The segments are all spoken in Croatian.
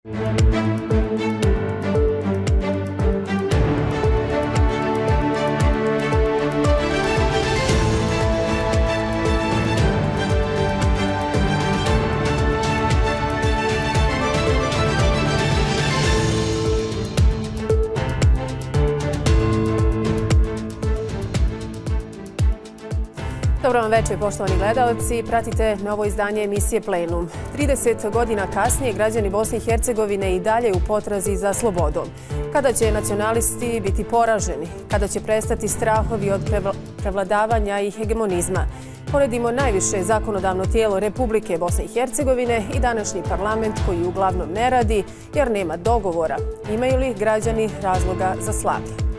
Dobro vam večer, poštovani gledalci. Pratite novo izdanje emisije Plenum. 30 godina kasnije građani Bosne i Hercegovine i dalje u potrazi za slobodom. Kada će nacionalisti biti poraženi? Kada će prestati strahovi od prevladavanja i hegemonizma? Poredimo najviše zakonodavno tijelo Republike Bosne i Hercegovine i današnji parlament koji uglavnom ne radi jer nema dogovora. Imaju li građani razloga za slavlje?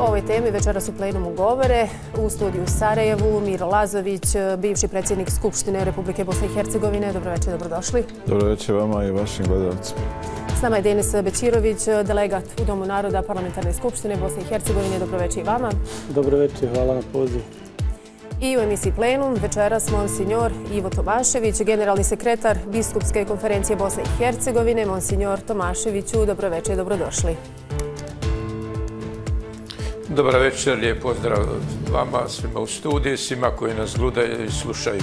O ovoj temi večeras u Plenumu govore u studiju u Sarajevu Miro Lazović, bivši predsjednik Skupštine Republike Bosne i Hercegovine. Dobro večer, dobrodošli. Dobro večer vama i vašim gledalcima. S nama je Denis Bećirović, delegat u Domu naroda Parlamentarne skupštine Bosne i Hercegovine. Dobro večer i vama. Dobro večer, hvala na pozivu. I u emisiji Plenum večeras monsignor Ivo Tomašević, generalni sekretar Biskupske konferencije Bosne i Hercegovine. Monsignor Tomaševiću, dobro večer i dobrodošli. Dobar večer, lijep pozdrav vama, svima u studiju, svima koji nas gledaju i slušaju.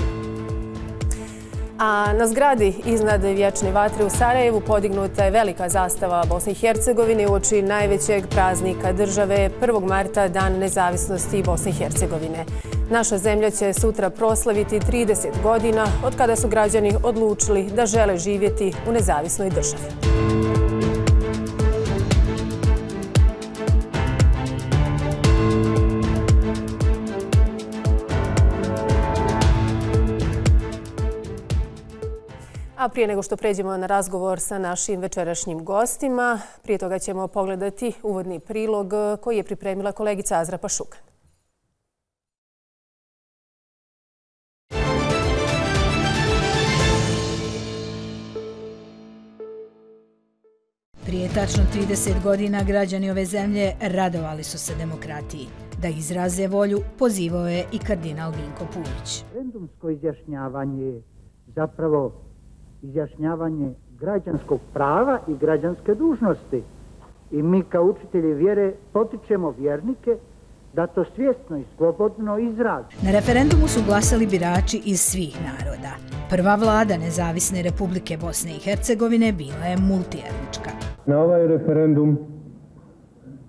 A na zgradi iznad Vječne vatre u Sarajevu podignuta je velika zastava Bosne i Hercegovine uoči najvećeg praznika države 1. marta, Dan nezavisnosti Bosne i Hercegovine. Naša zemlja će sutra proslaviti 30 godina od kada su građani odlučili da žele živjeti u nezavisnoj državi. A prije nego što pređemo na razgovor sa našim večerašnjim gostima, prije toga ćemo pogledati uvodni prilog koji je pripremila kolegica Azra Pašukan. Prije tačno 30 godina građani ove zemlje radovali su se demokratiji. Da izraze volju pozivao je i kardinal Vinko Puljić. Referendumsko izjašnjavanje je zapravo izjašnjavanje građanskog prava i građanske dužnosti. I mi kao učitelji vjere potičemo vjernike da to svjesno i slobodno izraze. Na referendumu su glasali birači iz svih naroda. Prva vlada Nezavisne Republike Bosne i Hercegovine bila je multietnička. Na ovaj referendum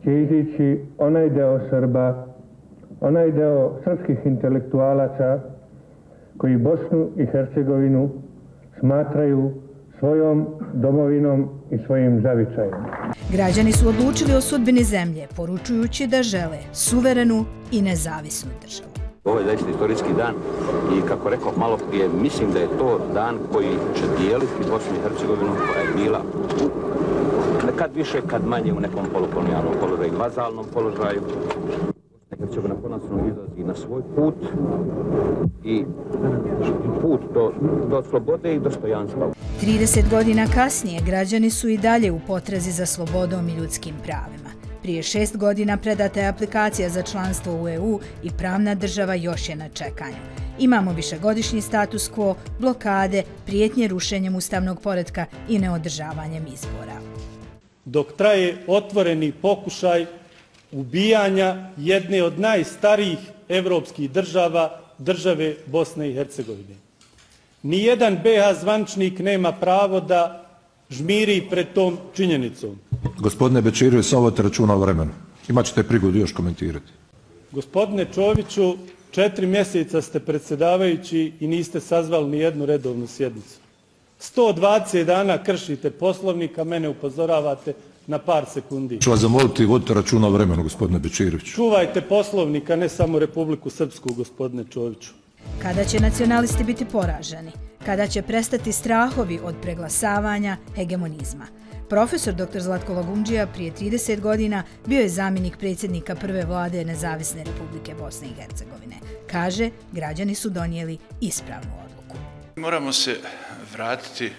će izići onaj deo Srba, onaj deo srpskih intelektualaca koji Bosnu i Hercegovinu smatraju svojom domovinom i svojim zavičajem. Građani su odlučili o sudbini zemlje, poručujući da žele suverenu i nezavisnu državu. Ovo je zaista istorijski dan i kako rekao malo prije, mislim da je to dan koji će dijeliti Bosnu i Hercegovinu koja je bila kad više, kad manje u nekom polukolonijalnom položaju i vazalnom položaju. Hercegovina konačno izlazi na svoj put i put do slobode i dostojanstva. 30 godina kasnije građani su i dalje u potrazi za slobodom i ljudskim pravima. Prije 6 godina predata je aplikacija za članstvo u EU i pravna država još je na čekanju. Imamo višegodišnji status quo, blokade, prijetnje rušenjem ustavnog poretka i neodržavanjem izbora. Dok traje otvoreni pokušaj ubijanja jedne od najstarijih evropskih država, države Bosne i Hercegovine. Nijedan BiH zvaničnik nema pravo da žmiri pred tom činjenicom. Gospodine Bećirović, samo vodite računa o vremenu. Imat ćete prigodu još komentirati. Gospodine Čoviću, 4 mjeseca ste predsjedavajući i niste sazvali ni jednu redovnu sjednicu. 120 dana kršite Poslovnik, a mene upozoravate na par sekundi. Ću vas zamoliti, vodite računa o vremenu, gospodine Bećirović. Čuvajte Poslovnik, a ne samo Republiku Srpsku, gospodine Čoviću. Kada će nacionalisti biti poraženi? Kada će prestati strahovi od preglasavanja hegemonizma? Profesor dr. Zlatko Lagundžija prije 30 godina bio je zamjenik predsjednika prve vlade Nezavisne Republike Bosne i Hercegovine. Kaže, građani su donijeli ispravnu odluku. Moramo se vratiti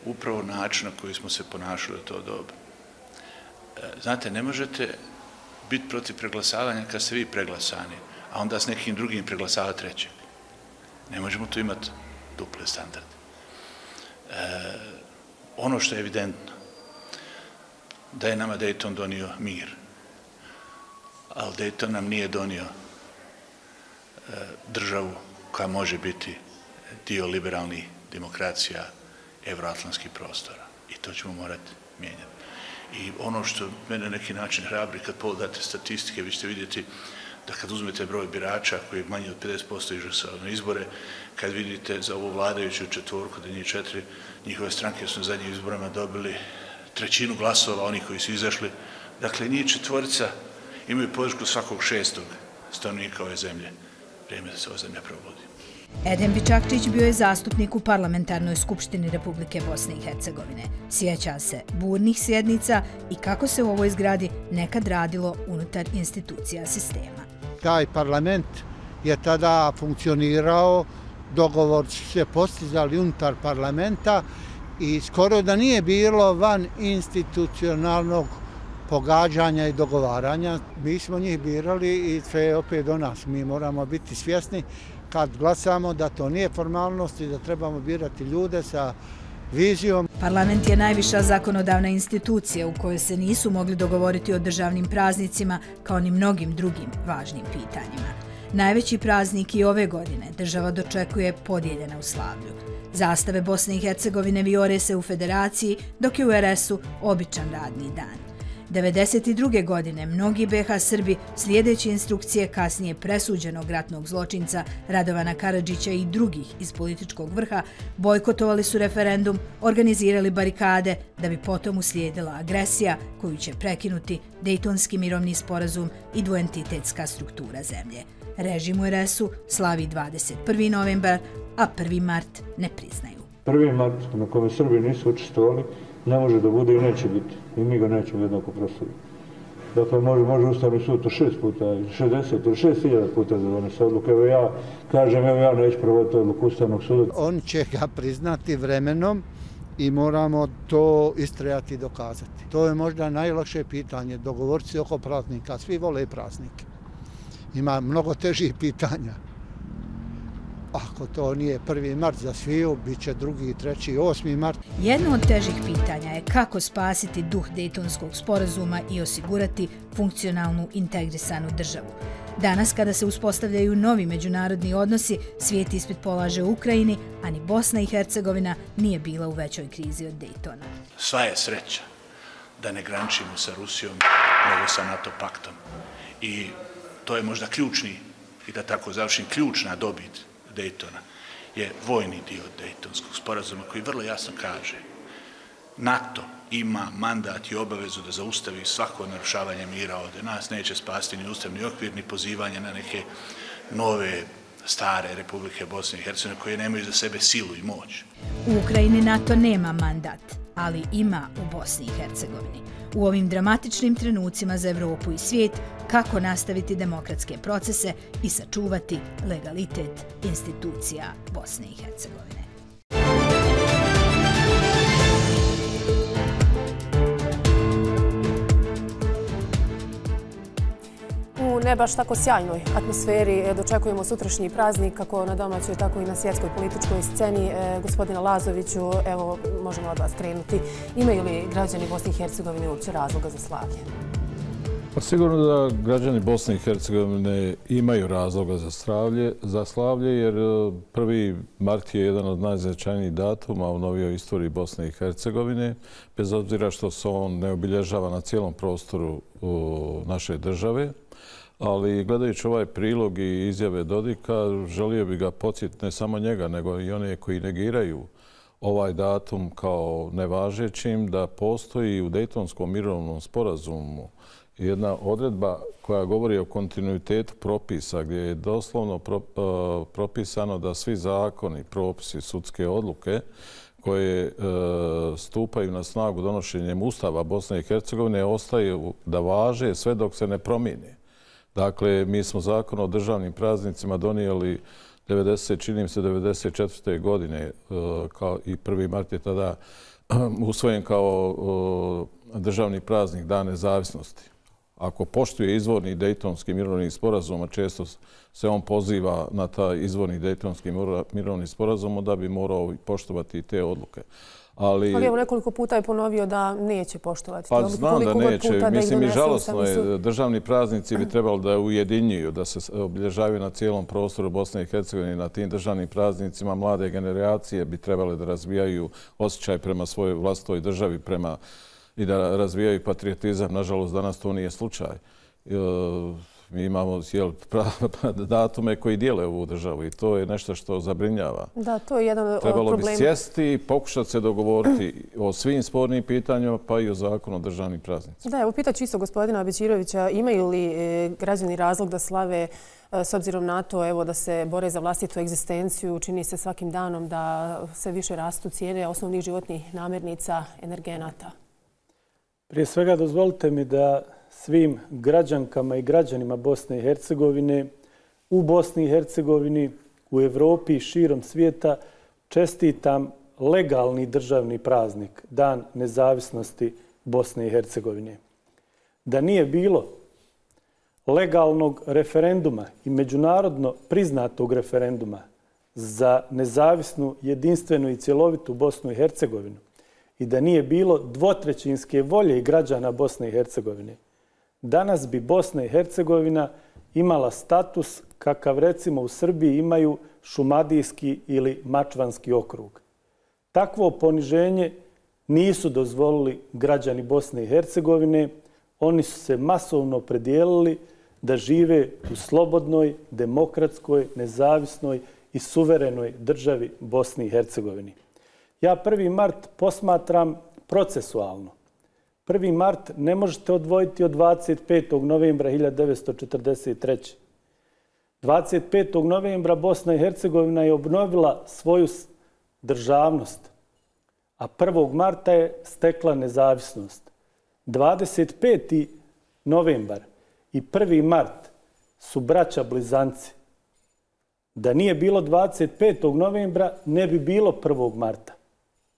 upravo način na koji smo se ponašali u to doba. Znate, ne možete biti protiv preglasavanja kad ste vi preglasani, a onda s nekim drugim preglasavati trećeg. Ne možemo tu imati duple standarde. Ono što je evidentno, da je nama Dayton donio mir, ali Dayton nam nije donio državu koja može biti dio liberalnih demokracija evroatlantskih prostora. I to ćemo morati mijenjati. I ono što mene na neki način hrabri, kad pogledate statistike, vi ćete vidjeti da kad uzmete broj birača koji je manji od 50% išao na izbore, kad vidite za ovu vladajuću četvorku, da njih 4, njihove stranke su na zadnjim izborima dobili 1/3 glasova, oni koji su izašli. Dakle, njih 4 imaju podršku svakog 6. stanovnika ove zemlje. Vrijeme da se ova zemlja probudi. Edem Bičakčić bio je zastupnik u Parlamentarnoj skupštini Republike Bosne i Hercegovine. Sjeća se burnih sjednica i kako se u ovoj zgradi nekad radilo unutar institucija sistema. Taj parlament je tada funkcionirao, dogovor su se postizali unutar parlamenta i skoro da nije bilo van institucionalnog pogađanja i dogovaranja. Mi smo njih birali i sve je opet do nas. Mi moramo biti svjesni kad glasamo da to nije formalnost i da trebamo birati ljude sa vizijom. Parlament je najviša zakonodavna institucija u kojoj se nisu mogli dogovoriti o državnim praznicima kao ni mnogim drugim važnim pitanjima. Najveći praznik i ove godine država dočekuje podijeljena u slavlju. Zastave Bosne i Hercegovine vijore se u Federaciji, dok je u RS-u običan radni dan. 1992. godine mnogi BiH Srbi, slijedeći instrukcije kasnije presuđenog ratnog zločinca Radovana Karadžića i drugih iz političkog vrha, bojkotovali su referendum, organizirali barikade da bi potom uslijedila agresija koju će prekinuti Dejtonski mirovni sporazum i dvoentitetska struktura zemlje. Režim u RS-u slavi 21. novembar, a 1. mart ne priznaju. 1. mart na kome Srbi nisu učestvovali ne može da bude i neće biti. I mi ga nećemo jednako proslaviti. Dakle, može Ustavni sud to 6 puta, 60 ili 6.000 puta da donese odluku. Evo ja kažem, ja neću provoditi odluku Ustavnog suda. On će ga priznati vremenom i moramo to istrajati i dokazati. To je možda najlakše pitanje, dogovoriti se oko praznika. Svi vole praznike. Ima mnogo težih pitanja. Ako to nije 1. mart za sviju, bit će 2., 3., 8. mart. Jedno od težih pitanja je kako spasiti duh Dejtonskog sporazuma i osigurati funkcionalnu integrisanu državu. Danas, kada se uspostavljaju novi međunarodni odnosi, svijet ispit polaže u Ukrajini, a ni Bosna i Hercegovina nije bila u većoj krizi od Dejtona. Sva je sreća da ne graničimo sa Rusijom, nego sa NATO paktom. I to je možda ključni, i da tako završim, ključna dobit Dejtona je vojni dio Dejtonskog sporazuma koji vrlo jasno kaže NATO ima mandat i obavezu da zaustavi svako narušavanje mira ovdje. Nas neće spasti ni ustavni okvir, ni pozivanje na neke nove, stare Republike Bosne i Hercegovine koje nemaju za sebe silu i moć. U Ukrajini NATO nema mandat, ali ima u Bosni i Hercegovini. U ovim dramatičnim trenucima za Evropu i svijet, kako nastaviti demokratske procese i sačuvati legalitet institucija Bosne i Hercegovine. U ne baš tako sjajnoj atmosferi dočekujemo sutrašnji praznik, kako na domaćoj, tako i na svjetskoj političkoj sceni. Gospodina Lazoviću, evo, možemo od vas krenuti. Imaju li građani Bosne i Hercegovine uopće razloga za slavlje? Pa sigurno da građani Bosne i Hercegovine imaju razloga za slavlje, jer 1. mart je jedan od najznačajnijih datuma u novijoj istoriji Bosne i Hercegovine, bez obzira što se on ne obilježava na cijelom prostoru naše države. Ali gledajući ovaj prilog i izjave Dodika, želio bi ga podsjetiti ne samo njega, nego i one koji negiraju ovaj datum kao nevažećim, da postoji u Dejtonskom mirovnom sporazumu jedna odredba koja govori o kontinuitetu propisa, gdje je doslovno propisano da svi zakoni, propisi, sudske odluke koje stupaju na snagu donošenjem Ustava Bosne i Hercegovine ostaju da važe sve dok se ne promijene. Dakle, mi smo zakon o državnim praznicima donijeli čini mi se 1994. godine i 1. mart je tada usvojen kao državni praznik Dan nezavisnosti. Ako poštuje izvorni Dejtonski mirovni sporazum, a često se on poziva na taj izvorni Dejtonski mirovni sporazum, onda bi morao poštovati i te odluke. Ali evo nekoliko puta je ponovio da neće poštovati. Pa znam da neće. Mislim i žalosno je. Državni praznici bi trebalo da ujedinjuju, da se obilježavaju na cijelom prostoru Bosne i Hercegovine. Na tim državnim praznicima mlade generacije bi trebale da razvijaju osjećaj prema svojoj vlastitoj državi i da razvijaju patriotizam. Nažalost, danas to nije slučaj. Mi imamo datume koji dijele ovu državu i to je nešto što zabrinjava. Da, to je jedan od problema. Trebalo bi sjesti i pokušati se dogovoriti o svim spornim pitanjima, pa i o zakonu o državnim praznicima. Da, evo pitat ću isto gospodina Bećirovića, imaju li građani razlog da slave s obzirom na to evo, da se bore za vlastitu egzistenciju? Čini se svakim danom da sve više rastu cijene osnovnih životnih namirnica, energenata. Prije svega dozvolite mi da svim građankama i građanima Bosne i Hercegovine, u Bosni i Hercegovini, u Evropi i širom svijeta čestitam legalni državni praznik, Dan nezavisnosti Bosne i Hercegovine. Da nije bilo legalnog referenduma i međunarodno priznatog referenduma za nezavisnu, jedinstvenu i cjelovitu Bosnu i Hercegovinu i da nije bilo dvotrećinske volje građana Bosne i Hercegovine, danas bi Bosna i Hercegovina imala status kakav recimo u Srbiji imaju Šumadijski ili Mačvanski okrug. Takvo poniženje nisu dozvolili građani Bosne i Hercegovine. Oni su se masovno predijelili da žive u slobodnoj, demokratskoj, nezavisnoj i suverenoj državi Bosni i Hercegovini. Ja 1. mart posmatram procesualno. 1. mart ne možete odvojiti od 25. novembra 1943. 25. novembra Bosna i Hercegovina je obnovila svoju državnost, a 1. marta je stekla nezavisnost. 25. novembar i 1. mart su braća blizanci. Da nije bilo 25. novembra ne bi bilo 1. marta.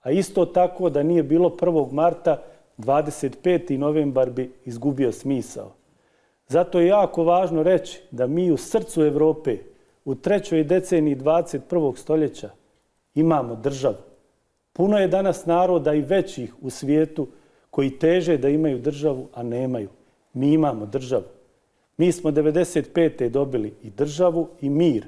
A isto tako da nije bilo 1. marta 25. novembar bi izgubio smisao. Zato je jako važno reći da mi u srcu Evrope u 3. deceniji 21. stoljeća imamo državu. Puno je danas naroda i većih u svijetu koji teže da imaju državu, a nemaju. Mi imamo državu. Mi smo 95. dobili i državu i mir.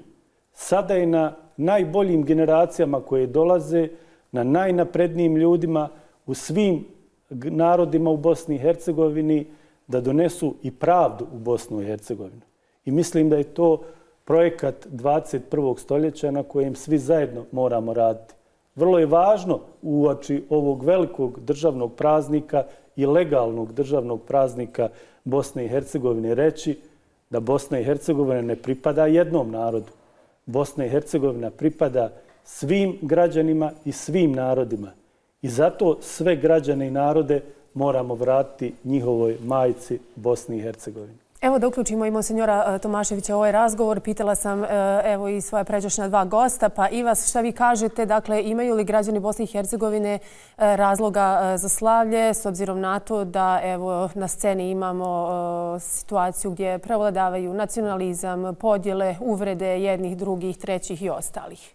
Sada je na najboljim generacijama koje dolaze, na najnaprednijim ljudima u svim narodima u Bosni i Hercegovini da donesu i pravdu u Bosnu i Hercegovinu. I mislim da je to projekat 21. stoljeća na kojem svi zajedno moramo raditi. Vrlo je važno uoči ovog velikog državnog praznika i legalnog državnog praznika Bosne i Hercegovine reći da Bosna i Hercegovina ne pripada jednom narodu. Bosna i Hercegovina pripada svim građanima i svim narodima. I zato sve građane i narode moramo vratiti njihovoj majci Bosni i Hercegovini. Evo da uključimo i monsenjora Tomaševića u ovaj razgovor. Pitala sam evo i svoja pređašnja 2 gosta, pa i vas šta vi kažete, dakle imaju li građani Bosne i Hercegovine razloga za slavlje s obzirom na to da evo na sceni imamo situaciju gdje prevladavaju nacionalizam, podjele, uvrede jednih, drugih, trećih i ostalih?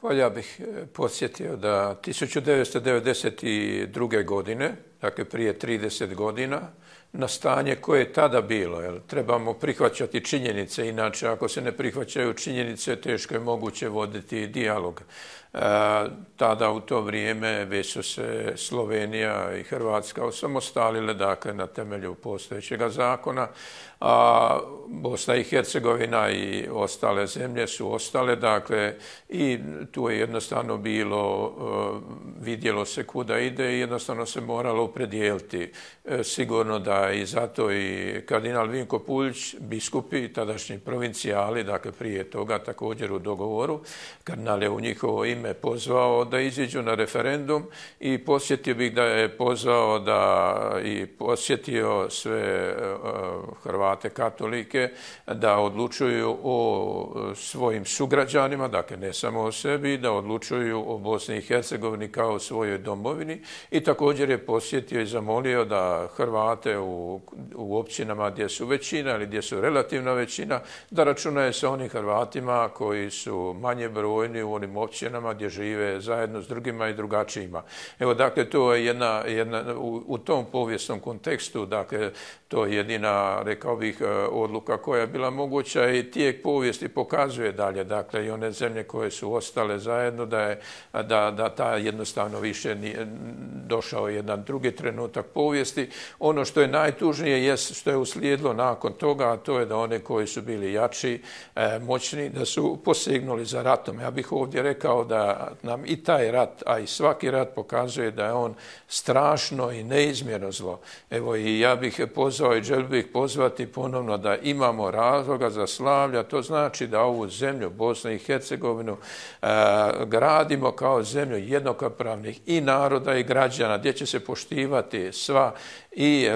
Pa ja bih podsjetio da 1992. godine, dakle prije 30 godina, na stanje koje je tada bilo. Trebamo prihvaćati činjenice, inače ako se ne prihvaćaju činjenice, teško je moguće voditi dijalog. Tada u to vrijeme već su se Slovenija i Hrvatska osamostalile, dakle na temelju postojećeg zakona, a Bosna i Hercegovina i ostale zemlje su ostale, dakle i tu je jednostavno bilo, vidjelo se kuda ide i jednostavno se moralo opredijeliti. Sigurno da i zato i kardinal Vinko Puljić, biskupi, tadašnji provincijali, dakle prije toga također u dogovoru, kardinal je u njihovo ime pozvao da iziđu na referendum i posjetio bih da je pozvao i posjetio sve Hrvate katolike da odlučuju o svojim sugrađanima, dakle ne samo o sebi, da odlučuju o Bosni i Hercegovini kao o svojoj domovini i također je posjetio i zamolio da Hrvate u općinama gdje su većina ili gdje su relativna većina, da računaju sa onim Hrvatima koji su manje brojni u onim općinama gdje žive zajedno s drugima i drugačijima. Evo, dakle, to je u tom povijesnom kontekstu, dakle, to je jedina, rekao bih, odluka koja je bila moguća i tijek povijesti pokazuje dalje, dakle, i one zemlje koje su ostale zajedno, da ta jednostavno više nije došao jedan drugi trenutak povijesti. Ono što je najtužnije jest što je uslijedilo nakon toga, a to je da one koji su bili jači, moćni, da su posegnuli za ratom. Ja bih ovdje rekao da nam i taj rat, a i svaki rat pokazuje da je on strašno i neizmjerno zlo. Evo, i ja bih pozvao i želio bih pozvati ponovno da imamo razloga za slavlja. To znači da ovu zemlju, Bosnu i Hercegovinu, gradimo kao zemlju jednakopravnih i naroda i građana, gdje će se poštivati sva i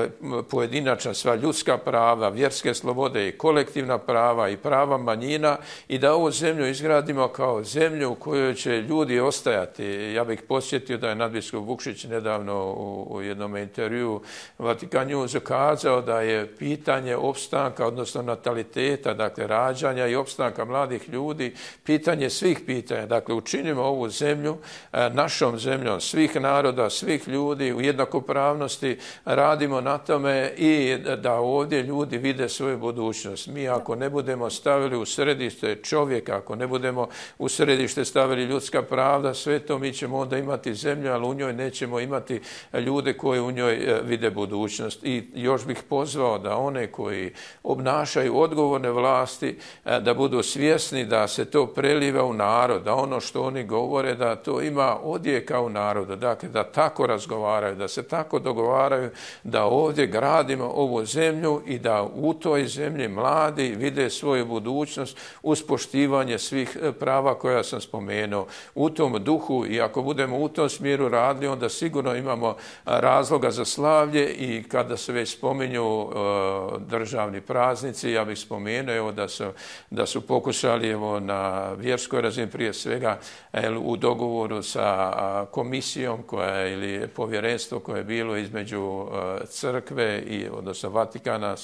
pojedinačna, sva ljudska prava, vjerske slobode i kolektivna prava i prava manjina i da ovu zemlju izgradimo kao zemlju u kojoj će ljudi ostajati. Ja bih podsjetio da je nadbiskup Vukšić nedavno u jednom intervjuu Vatikan News kazao da je pitanje opstanka, odnosno nataliteta, dakle rađanja i opstanka mladih ljudi, pitanje svih pitanja. Dakle, učinimo ovu zemlju našom zemljom svih naroda, svih ljudi u jednakopravnosti, radimo na tome i da ovdje ljudi vide svoju budućnost. Mi ako ne budemo stavili u središte čovjeka, ako ne budemo u središte stavili ljudska pravda, sve to mi ćemo onda imati zemlju, ali u njoj nećemo imati ljude koji u njoj vide budućnost. I još bih pozvao da one koji obnašaju odgovorne vlasti, da budu svjesni da se to preliva u narod, da ono što oni govore, da to ima odjeka u narodu, dakle da tako razgovaraju, da se tako dogovaraju, da ovdje gradimo ovu zemlju i da u toj zemlji mladi vide svoju budućnost uz poštivanje svih prava koja sam spomenuo. U tom duhu i ako budemo u tom smjeru radili, onda sigurno imamo razloga za slavlje i kada se već spominju državni praznici, ja bih spomenuo da su pokušali na vjerskoj razini prije svega u dogovoru sa komisijom ili povjerenstvo koje je bilo između crkve odnosno Vatikana,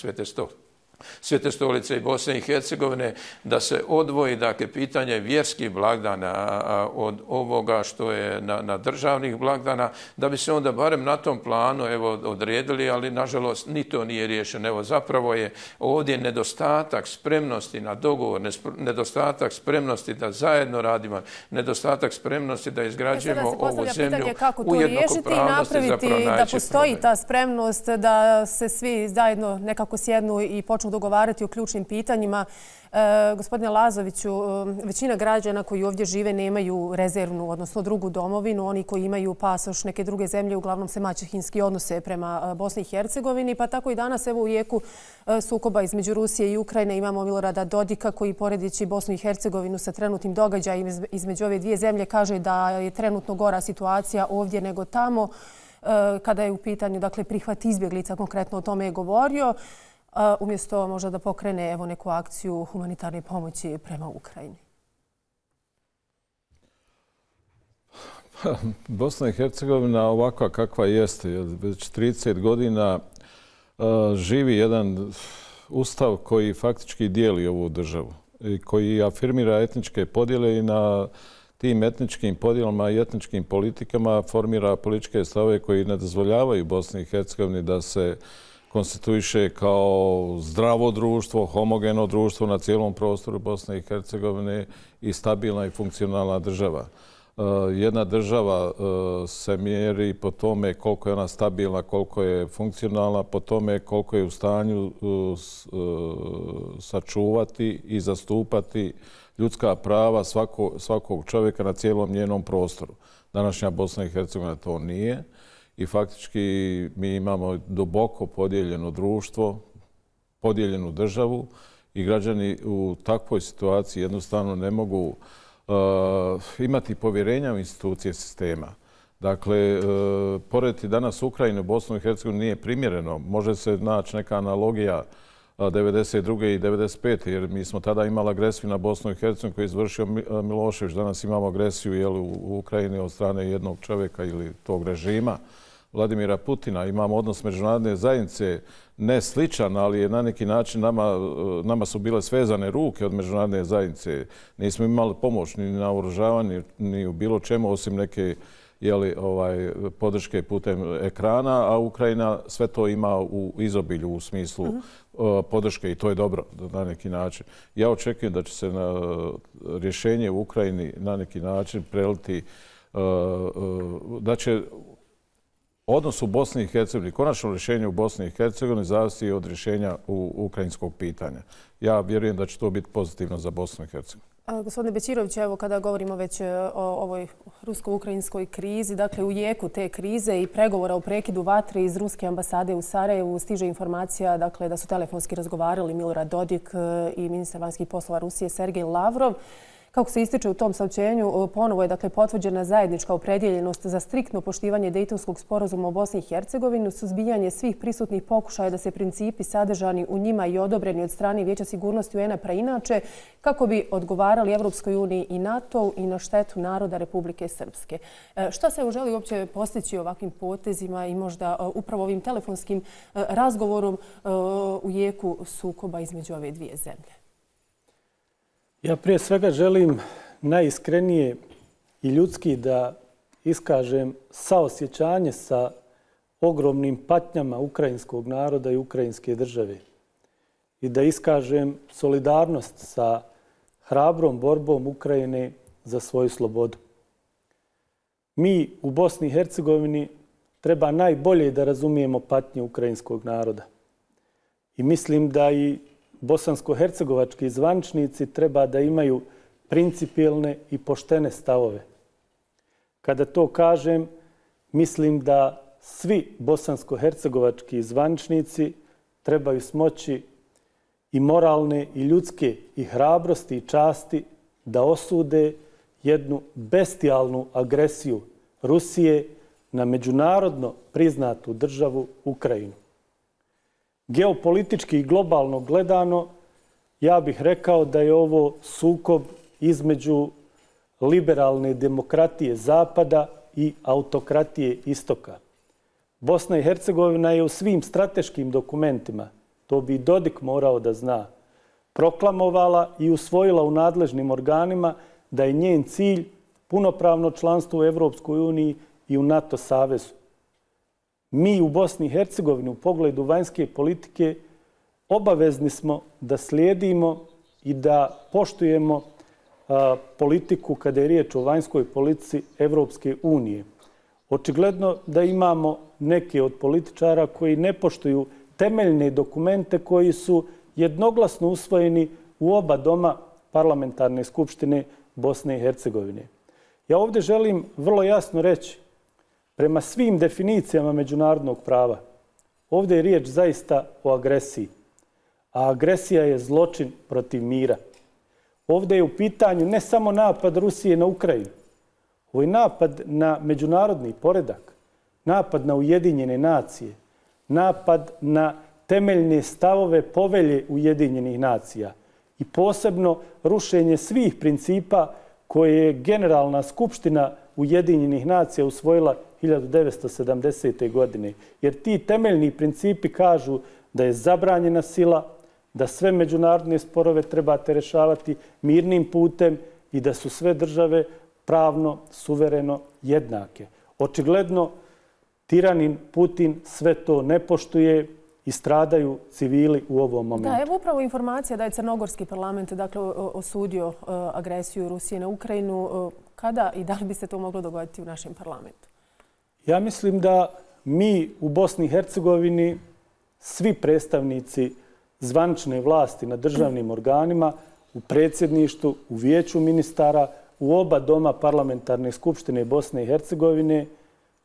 Svete stolice i Bosne i Hercegovine, da se odvoji, dakle, pitanje vjerskih blagdana od ovoga što je na državnih blagdana, da bi se onda barem na tom planu odredili, ali nažalost ni to nije riješeno. Evo, zapravo je ovdje nedostatak spremnosti na dogovor, nedostatak spremnosti da zajedno radimo, nedostatak spremnosti da izgrađujemo ovu zemlju u jednakopravnosti, zapravo da postoji ta spremnost, da se svi zajedno nekako sjednu i počnu dogovarati o ključnim pitanjima. Gospodine Lazoviću, većina građana koji ovdje žive nemaju rezervnu, odnosno drugu domovinu. Oni koji imaju pasoš neke druge zemlje uglavnom se maćehinski odnose prema Bosni i Hercegovini. Pa tako i danas u jeku sukoba između Rusije i Ukrajine imamo Milorada Dodika koji, poredeći Bosnu i Hercegovinu sa trenutnim događajima između ove dvije zemlje, kaže da je trenutno gora situacija ovdje nego tamo. Kada je u pitanju prihvat izbjeglica, konkretno o tome je govorio, umjesto možda da pokrene neku akciju humanitarne pomoći prema Ukrajini. Bosna i Hercegovina ovakva kakva jeste, već 30 godina živi jedan ustav koji faktički dijeli ovu državu i koji afirmira etničke podjele i na tim etničkim podjelama i etničkim politikama formira političke stavove koji ne dozvoljavaju Bosni i Hercegovini da se konstituiše kao zdravo društvo, homogeno društvo na cijelom prostoru Bosne i Hercegovine i stabilna i funkcionalna država. Jedna država se mjeri po tome koliko je ona stabilna, koliko je funkcionalna, po tome koliko je u stanju sačuvati i zastupati ljudska prava svakog čovjeka na cijelom njenom prostoru. Današnja Bosna i Hercegovina to nije. i faktički mi imamo duboko podijeljeno društvo, podijeljenu državu i građani u takvoj situaciji jednostavno ne mogu imati povjerenja u institucije sistema. Dakle, porediti danas Ukrajinu i Bosnu i Hercegovinu nije primjereno. Može se naći neka analogija 1992. i 1995. jer mi smo tada imali agresiju na Bosnu i Hercegovinu koju je izvršio Milošević. Danas imamo agresiju u Ukrajini od strane jednog čovjeka ili tog režima, Vladimira Putina. Imamo odnos međunarodne zajednice ne sličan, ali je na neki način nama su bile svezane ruke od međunarodne zajednice. Nismo imali pomoć ni na oružavanju, ni u bilo čemu osim neke podrške putem ekrana, a Ukrajina sve to ima u izobilju u smislu podrške i to je dobro na neki način. Ja očekujem da će se rješenje u Ukrajini na neki način preliti, da će odnos u Bosni i Hercegovini, konačno rješenje u Bosni i Hercegovini zavisi od rješenja ukrajinskog pitanja. Ja vjerujem da će to biti pozitivno za Bosnu i Hercegovinu. Gospodine Bećirović, evo kada govorimo već o ovoj rusko-ukrajinskoj krizi, dakle u jeku te krize i pregovora o prekidu vatre iz ruske ambasade u Sarajevu stiže informacija dakle, da su telefonski razgovarali Milorad Dodik i ministar vanjskih poslova Rusije Sergej Lavrov. Kako se ističe u tom saopćenju, ponovo je dakle, potvrđena zajednička opredjeljenost za striktno poštivanje Dejtonskog sporazuma u Bosni i Hercegovini, suzbijanje svih prisutnih pokušaja da se principi sadržani u njima i odobreni od strane Vijeća sigurnosti UN-a preinače kako bi odgovarali Evropskoj uniji i NATO i na štetu naroda Republike Srpske. Šta se želi uopće postići ovakvim potezima i možda upravo ovim telefonskim razgovorom u jeku sukoba između ove dvije zemlje? Ja prije svega želim najiskrenije i ljudski da iskažem saosjećanje sa ogromnim patnjama ukrajinskog naroda i ukrajinske države i da iskažem solidarnost sa hrabrom borbom Ukrajine za svoju slobodu. Mi u Bosni i Hercegovini treba najbolje da razumijemo patnje ukrajinskog naroda. I mislim da i bosansko-hercegovački zvaničnici treba da imaju principijelne i poštene stavove. Kada to kažem, mislim da svi bosansko-hercegovački zvaničnici trebaju smoći i moralne i ljudske i hrabrosti i časti da osude jednu bestijalnu agresiju Rusije na međunarodno priznatu državu Ukrajinu. Geopolitički i globalno gledano, ja bih rekao da je ovo sukob između liberalne demokratije Zapada i autokratije Istoka. Bosna i Hercegovina je u svim strateškim dokumentima, to bi Dodik morao da zna, proklamovala i usvojila u nadležnim organima da je njen cilj punopravno članstvo u Evropskoj uniji i u NATO savezu. Mi u Bosni i Hercegovini u pogledu vanjske politike obavezni smo da slijedimo i da poštujemo politiku kada je riječ o vanjskoj politici Evropske unije. Očigledno da imamo neke od političara koji ne poštuju temeljne dokumente koji su jednoglasno usvojeni u oba doma parlamentarne skupštine Bosne i Hercegovine. Ja ovdje želim vrlo jasno reći, prema svim definicijama međunarodnog prava, ovdje je riječ zaista o agresiji. A agresija je zločin protiv mira. Ovdje je u pitanju ne samo napad Rusije na Ukrajinu, ovo je napad na međunarodni poredak, napad na Ujedinjene nacije, napad na temeljne stavove povelje Ujedinjenih nacija i posebno rušenje svih principa koje je Generalna skupština Ujedinjenih nacija usvojila 1970. godine. Jer ti temeljni principi kažu da je zabranjena sila, da sve međunarodne sporove trebate rješavati mirnim putem i da su sve države pravno, suvereno jednake. Očigledno, tiranin Putin sve to ne poštuje i stradaju civili u ovom momentu. Da, evo upravo informacija da je Crnogorski parlament osudio agresiju Rusije na Ukrajinu. Kada i da li bi se to moglo dogoditi u našem parlamentu? Ja mislim da mi u Bosni i Hercegovini, svi predstavnici zvanične vlasti na državnim organima, u predsjedništvu, u vijeću ministara, u oba doma parlamentarne skupštine Bosne i Hercegovine,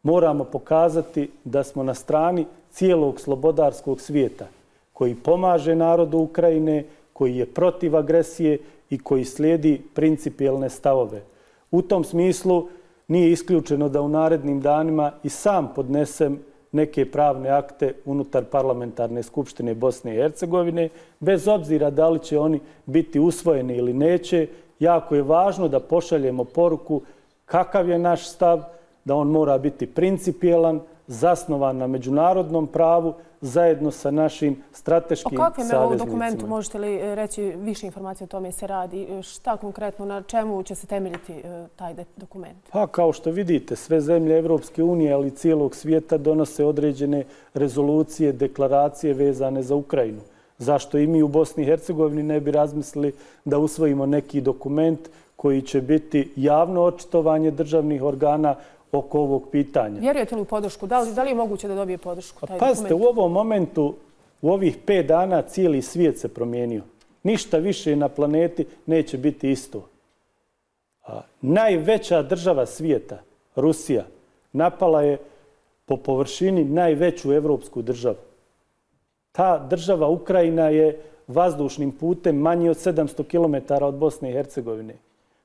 moramo pokazati da smo na strani cijelog slobodarskog svijeta koji pomaže narodu Ukrajine, koji je protiv agresije i koji slijedi principijelne stavove. U tom smislu nije isključeno da u narednim danima i sam podnesem neke pravne akte unutar Parlamentarne skupštine Bosne i Hercegovine, bez obzira da li će oni biti usvojeni ili neće. Jako je važno da pošaljemo poruku kakav je naš stav, da on mora biti principijelan, zasnovan na međunarodnom pravu, zajedno sa našim strateškim saveznicima. O kakvom dokumentu možete li reći više informacije o tome se radi? Šta konkretno, na čemu će se temeljiti taj dokument? Pa kao što vidite, sve zemlje Evropske unije, ali i cijelog svijeta donose određene rezolucije, deklaracije vezane za Ukrajinu. Zašto i mi u Bosni i Hercegovini ne bi razmislili da usvojimo neki dokument koji će biti javno očitovanje državnih organa oko ovog pitanja. Vjerujete li u podršku? Da li je moguće da dobije podršku taj dokument? Pazite, u ovom momentu, u ovih 5 dana cijeli svijet se promijenio. Ništa više na planeti neće biti isto. Najveća država svijeta, Rusija, napala je po površini najveću evropsku državu. Ta država Ukrajina je vazdušnim putem manji od 700 km od Bosne i Hercegovine.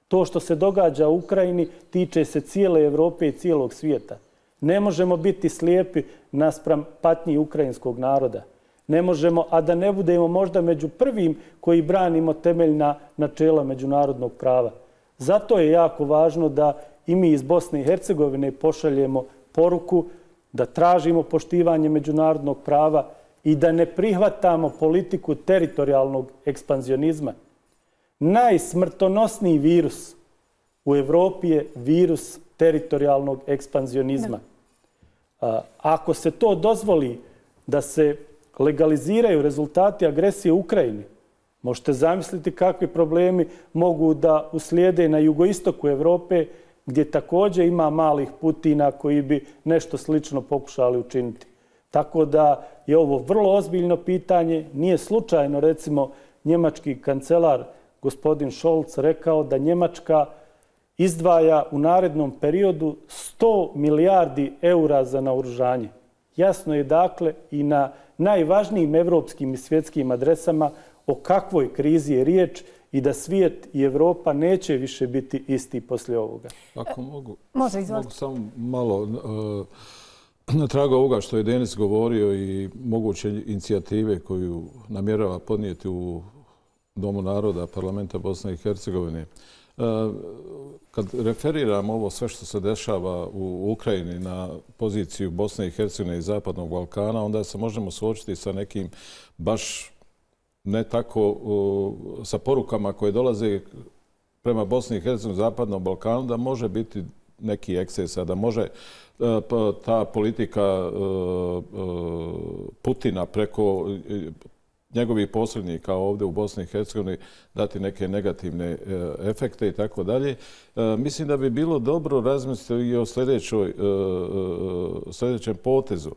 To što se događa u Ukrajini tiče se cijele Evrope i cijelog svijeta. Ne možemo biti slijepi naspram patnji ukrajinskog naroda. Ne možemo, a da ne budemo možda među prvim koji branimo temeljna načela međunarodnog prava. Zato je jako važno da i mi iz Bosne i Hercegovine pošaljemo poruku da tražimo poštivanje međunarodnog prava i da ne prihvatamo politiku teritorijalnog ekspanzionizma. Najsmrtonosniji virus u Evropi je virus teritorijalnog ekspanzionizma. Ako se to dozvoli da se legaliziraju rezultati agresije u Ukrajini, možete zamisliti kakvi problemi mogu da uslijede na jugoistoku Evrope, gdje također ima malih Putina koji bi nešto slično pokušali učiniti. Tako da je ovo vrlo ozbiljno pitanje. Nije slučajno, recimo, njemački kancelar gospodin Scholz rekao da Njemačka izdvaja u narednom periodu 100 milijardi eura za naoružanje. Jasno je dakle i na najvažnijim evropskim i svjetskim adresama o kakvoj krizi je riječ i da svijet i Evropa neće više biti isti poslije ovoga. Ako mogu samo malo na tragu ovoga što je Denis govorio i moguće inicijative koju namjerava podnijeti u Domu naroda Parlamenta Bosne i Hercegovine. Kad referiram ovo sve što se dešava u Ukrajini na poziciju Bosne i Hercegovine i Zapadnog Balkana, onda se možemo suočiti sa nekim baš ne tako sa porukama koje dolaze prema Bosni i Hercegovini i Zapadnom Balkanu, da može biti neki ekscesa, da može ta politika Putina preko njegovih posrednika ovdje u Bosni i Hercegovini dati neke negativne efekte i tako dalje. Mislim da bi bilo dobro razmisliti i o sljedećem potezu.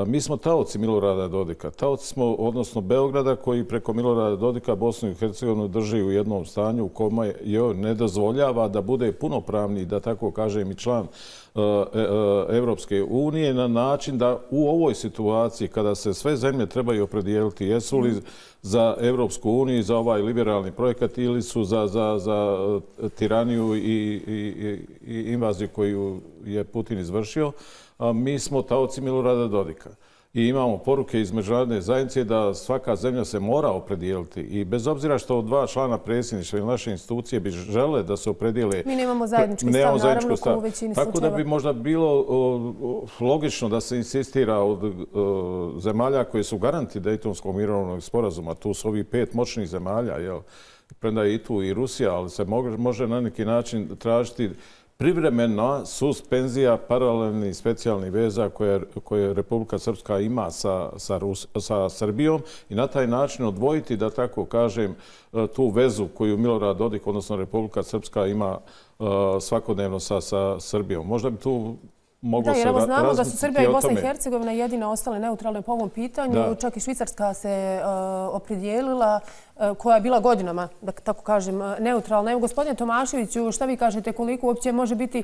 Mi smo taoci Milorada Dodika. Taoci smo, odnosno Beograda, koji preko Milorada Dodika Bosnu i Hercegovinu drži u jednom stanju u kome joj ne dozvoljava da bude punopravni, da tako kažem, i član Evropske unije, na način da u ovoj situaciji, kada se sve zemlje trebaju opredijeliti, jesu li za Evropsku uniju i za ovaj liberalni projekat ili su za tiraniju i invaziju koju je Putin izvršio, mi smo taoci Milorada Dodika. I imamo poruke iz međunarodne zajednice da svaka zemlja se mora opredijeliti. I bez obzira što 2 člana predsjedništva ili naše institucije bi žele da se opredijele... Mi nemamo zajednički stav, naravno, ko u većini slučajeva. Tako da bi možda bilo logično da se insistira od zemalja koje su garanti Dejtonskog mirovnog sporazuma. Tu su ovih 5 moćnih zemalja, premda je i tu i Rusija, ali se može na neki način tražiti privremena suspenzija paralelnih specijalnih veza koje Republika Srpska ima sa Srbijom i na taj način odvojiti, da tako kažem, tu vezu koju Milorad Dodik, odnosno Republika Srpska, ima svakodnevno sa Srbijom. Možda bi tu moglo se razmisliti o tome. Da, jer znamo da su Srbija i Bosna i Hercegovina jedina ostale neutralne po ovom pitanju. Čak i Švicarska se opredijelila, koja je bila godinama, da tako kažem, neutralna. Evo, gospodine Tomaševiću, šta vi kažete, koliko uopće može biti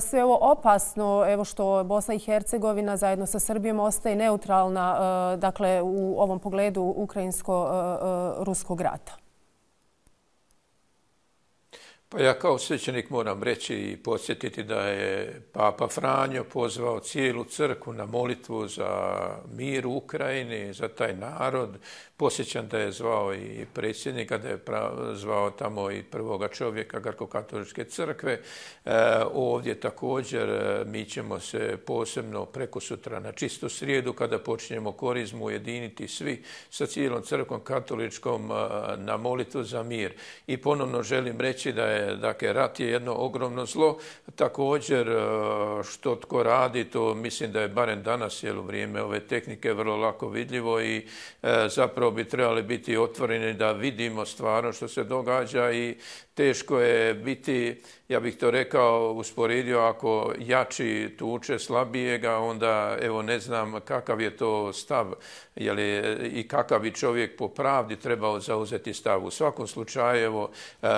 sve ovo opasno, evo što Bosna i Hercegovina zajedno sa Srbijom ostaje neutralna, dakle, u ovom pogledu ukrajinsko-ruskog rata? Pa ja kao svećenik moram reći i podsjetiti da je Papa Franjo pozvao cijelu crkvu na molitvu za mir u Ukrajini, za taj narod. Posjećam da je zvao i predsjednika, da je zvao tamo i prvoga čovjeka Grko-katoličke crkve. Ovdje također mi ćemo se posebno prekosutra na čistu srijedu, kada počinjemo korizmu, ujediniti svi sa cijelom crkvom katoličkom na molitvu za mir. I ponovno želim reći da je, dakle, rat je jedno ogromno zlo. Također, što tko radi, to mislim da je barem danas, u vrijeme ove tehnike, vrlo lako vidljivo i zapravo bi trebali biti otvoreni da vidimo stvarno što se događa i teško je biti, ja bih to rekao, usporedio, ako jači tuče slabijega, onda evo ne znam kakav je to stav i kakav bi čovjek po pravdi trebao zauzeti stav. U svakom slučaju evo,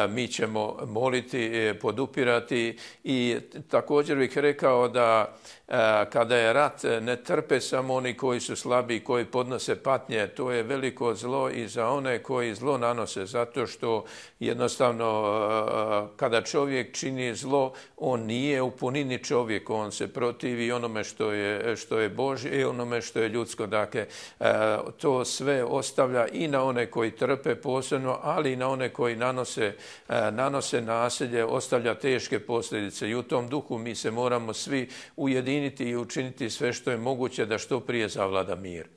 mi ćemo moliti, podupirati i također bih rekao da kada je rat ne trpe samo oni koji su slabiji, koji podnose patnje, to je veliko zlo i za one koji zlo nanose, zato što jednostavno kada čovjek čini zlo, on nije u punini čovjek, on se protivi onome što je Božje i onome što je ljudsko. Dakle, to sve ostavlja i na one koji trpe posebno, ali i na one koji nanose nasilje, ostavlja teške posljedice. I u tom duhu mi se moramo svi ujediniti i učiniti sve što je moguće da što prije zavlada mir.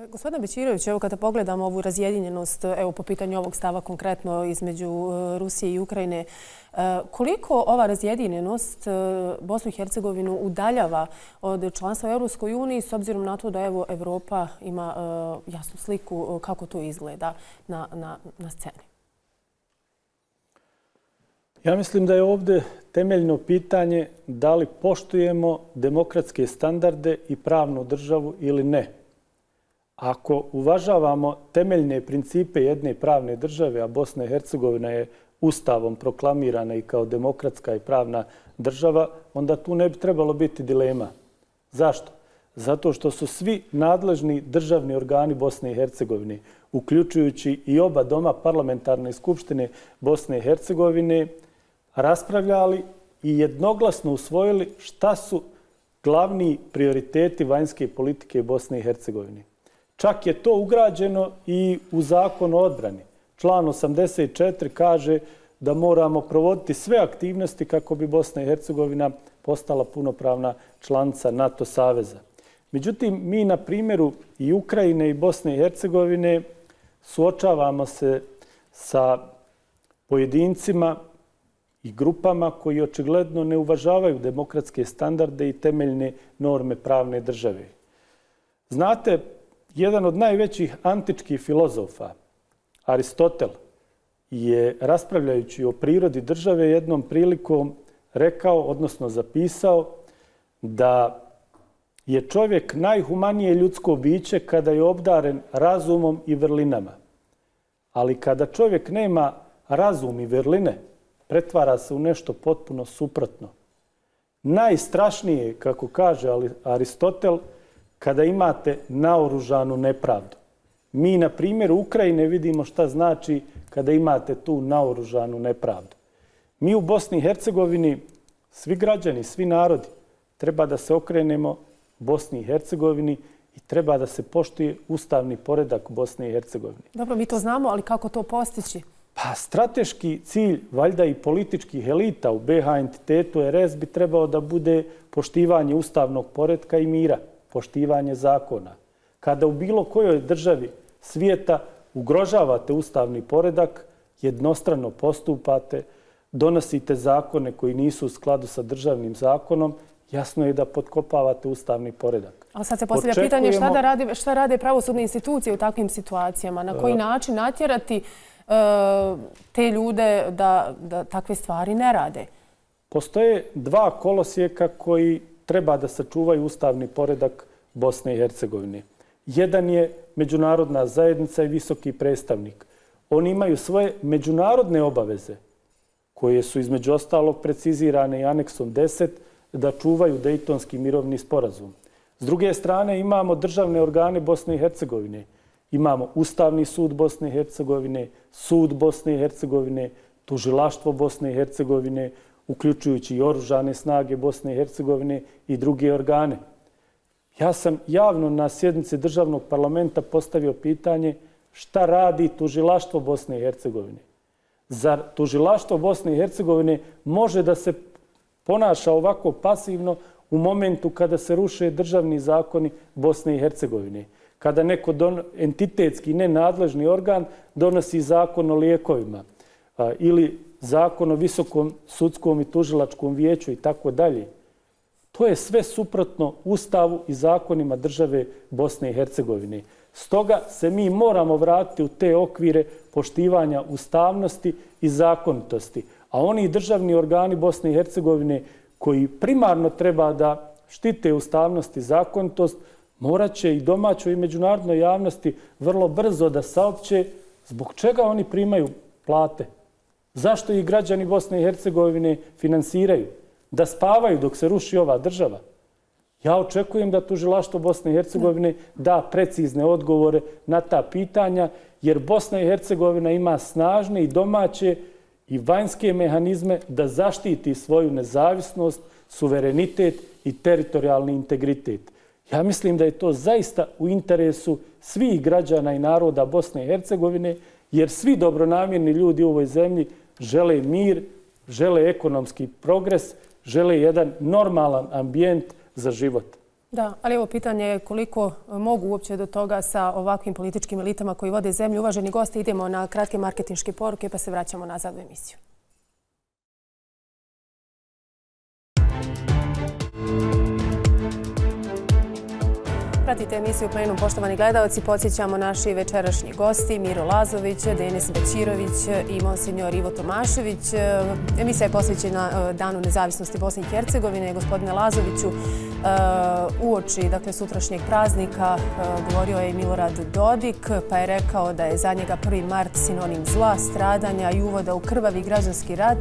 Gospodine Bećirović, evo kada pogledamo ovu razjedinjenost, evo po pitanju ovog stava konkretno između Rusije i Ukrajine, koliko ova razjedinjenost Bosnu i Hercegovinu udaljava od članstva u Europskoj uniji s obzirom na to da evo Evropa ima jasnu sliku kako to izgleda na sceni? Ja mislim da je ovdje temeljno pitanje da li poštujemo demokratske standarde i pravnu državu ili ne. Ako uvažavamo temeljne principe jedne pravne države, a Bosna i Hercegovina je Ustavom proklamirana i kao demokratska i pravna država, onda tu ne bi trebalo biti dilema. Zašto? Zato što su svi nadležni državni organi Bosne i Hercegovine, uključujući i oba doma parlamentarne skupštine Bosne i Hercegovine, raspravljali i jednoglasno usvojili šta su glavni prioriteti vanjske politike Bosne i Hercegovine. Čak je to ugrađeno i u Zakon o odbrani. Član 84 kaže da moramo provoditi sve aktivnosti kako bi Bosna i Hercegovina postala punopravna članica NATO saveza. Međutim, mi na primjeru i Ukrajine i Bosne i Hercegovine suočavamo se sa pojedincima i grupama koji očigledno ne uvažavaju demokratske standarde i temeljne norme pravne države. Znate, jedan od najvećih antičkih filozofa, Aristotel, je raspravljajući o prirodi države jednom prilikom rekao, odnosno zapisao, da je čovjek najhumanije ljudsko biće kada je obdaren razumom i vrlinama. Ali kada čovjek nema razum i vrline, pretvara se u nešto potpuno suprotno. Najstrašnije, kako kaže Aristotel, kada imate naoružanu nepravdu. Mi na primjeru Ukrajine vidimo šta znači kada imate tu naoružanu nepravdu. Mi u Bosni i Hercegovini, svi građani, svi narodi, treba da se okrenemo Bosni i Hercegovini i treba da se poštuje ustavni poredak Bosne i Hercegovine. Dobro, mi to znamo, ali kako to postići? Pa strateški cilj, valjda i političkih elita u BiH entitetu RS bi trebao da bude poštivanje ustavnog poretka i mira, poštivanje zakona. Kada u bilo kojoj državi svijeta ugrožavate ustavni poredak, jednostrano postupate, donosite zakone koji nisu u skladu sa državnim zakonom, jasno je da potkopavate ustavni poredak. Ali sad se postavlja pitanje šta rade pravosudne institucije u takvim situacijama, na koji način natjerati te ljude da takve stvari ne rade. Postoje dva kolosijeka koji treba da sačuvaju ustavni poredak Bosne i Hercegovine. Jedan je međunarodna zajednica i visoki predstavnik. Oni imaju svoje međunarodne obaveze, koje su između ostalog precizirane i aneksom 10, da čuvaju Dejtonski mirovni sporazum. S druge strane imamo državne organe Bosne i Hercegovine. Imamo Ustavni sud Bosne i Hercegovine, Sud Bosne i Hercegovine, Tužilaštvo Bosne i Hercegovine, uključujući i Oružane snage Bosne i Hercegovine i druge organe. Ja sam javno na sjednici državnog parlamenta postavio pitanje šta radi Tužilaštvo Bosne i Hercegovine. Zar Tužilaštvo Bosne i Hercegovine može da se ponaša ovako pasivno u momentu kada se ruše državni zakoni Bosne i Hercegovine? Kada neko entitetski nenadležni organ donosi zakon o lijekovima ili zakon o visokom sudskom i tužilačkom vijeću i tako dalje. To je sve suprotno Ustavu i zakonima države Bosne i Hercegovine. Stoga se mi moramo vratiti u te okvire poštivanja ustavnosti i zakonitosti. A oni državni organi Bosne i Hercegovine koji primarno treba da štite ustavnost i zakonitost, morat će i domaćoj i međunarodnoj javnosti vrlo brzo da saopće zbog čega oni primaju plate. Zašto ih građani Bosne i Hercegovine finansiraju? Da spavaju dok se ruši ova država? Ja očekujem da Tužilaštvo Bosne i Hercegovine da precizne odgovore na ta pitanja, jer Bosna i Hercegovina ima snažne i domaće i vanjske mehanizme da zaštiti svoju nezavisnost, suverenitet i teritorijalni integritet. Ja mislim da je to zaista u interesu svih građana i naroda Bosne i Hercegovine, jer svi dobronamjerni ljudi u ovoj zemlji žele mir, žele ekonomski progres, žele jedan normalan ambijent za život. Da, ali evo pitanje je koliko mogu uopće do toga sa ovakvim političkim elitama koji vode zemlju. Uvaženi gosti, idemo na kratke marketinške poruke pa se vraćamo nazad u emisiju. Pratite emisiju Plenum, poštovani gledalci. Podsjećamo naši večerašnji gosti Miro Lazović, Denis Bećirović i monsignor Ivo Tomašević. Emisija je posvećena Danu nezavisnosti Bosne i Hercegovine. Gospodine Lazoviću, uoči sutrašnjeg praznika govorio je Milorad Dodik, pa je rekao da je za njega 1. mart sinonim zla, stradanja i uvoda u krvavi građanski rat,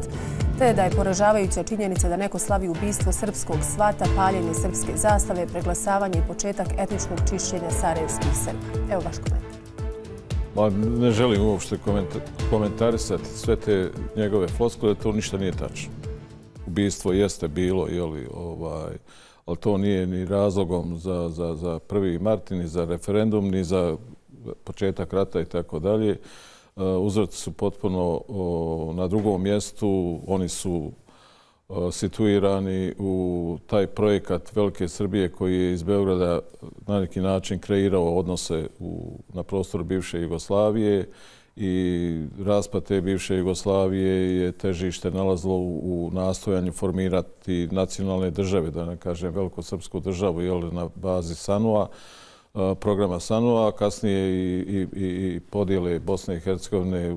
te da je poražavajuća činjenica da neko slavi ubistvo srpskog svata, paljenje srpske zastave, preglasavanje i početak etničkog čišćenja sarajevskih Srba. Evo vaš komentar. Ne želim uopšte komentarisati sve te njegove floskule, to ništa nije tačno. Ubistvo jeste bilo, ali to nije ni razlogom za 1. mart, ni za referendum, ni za početak rata i tako dalje. Uzroci su potpuno na drugom mjestu. Oni su situirani u taj projekat Velike Srbije koji je iz Beograda na neki način kreirao odnose na prostoru bivše Jugoslavije i raspad te bivše Jugoslavije je težište nalazilo u nastojanju formirati nacionalne države, da ne kažem velikosrpsku državu na bazi SANU-a, programa SANU-a, a kasnije i podijele Bosne i Hercegovine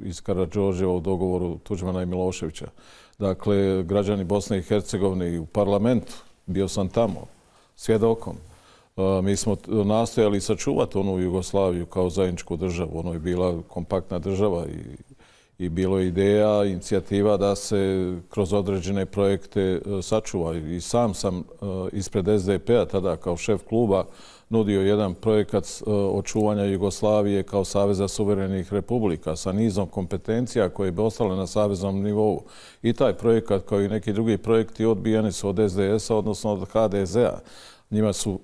iz Karađorđeva u dogovoru Tuđmana i Miloševića. Dakle, građani Bosne i Hercegovine i u parlamentu, bio sam tamo, svjedokom. Mi smo nastojali sačuvati onu Jugoslaviju kao zajedničku državu. Ono je bila kompaktna država i bilo je ideja, inicijativa da se kroz određene projekte sačuva. I sam sam ispred SDP-a tada kao šef kluba nudio jedan projekat očuvanja Jugoslavije kao Saveza suverenih republika sa nizom kompetencija koje bi ostale na saveznom nivou. I taj projekat, kao i neki drugi projekti, odbijeni su od SDS-a, odnosno od HDZ-a. Njima su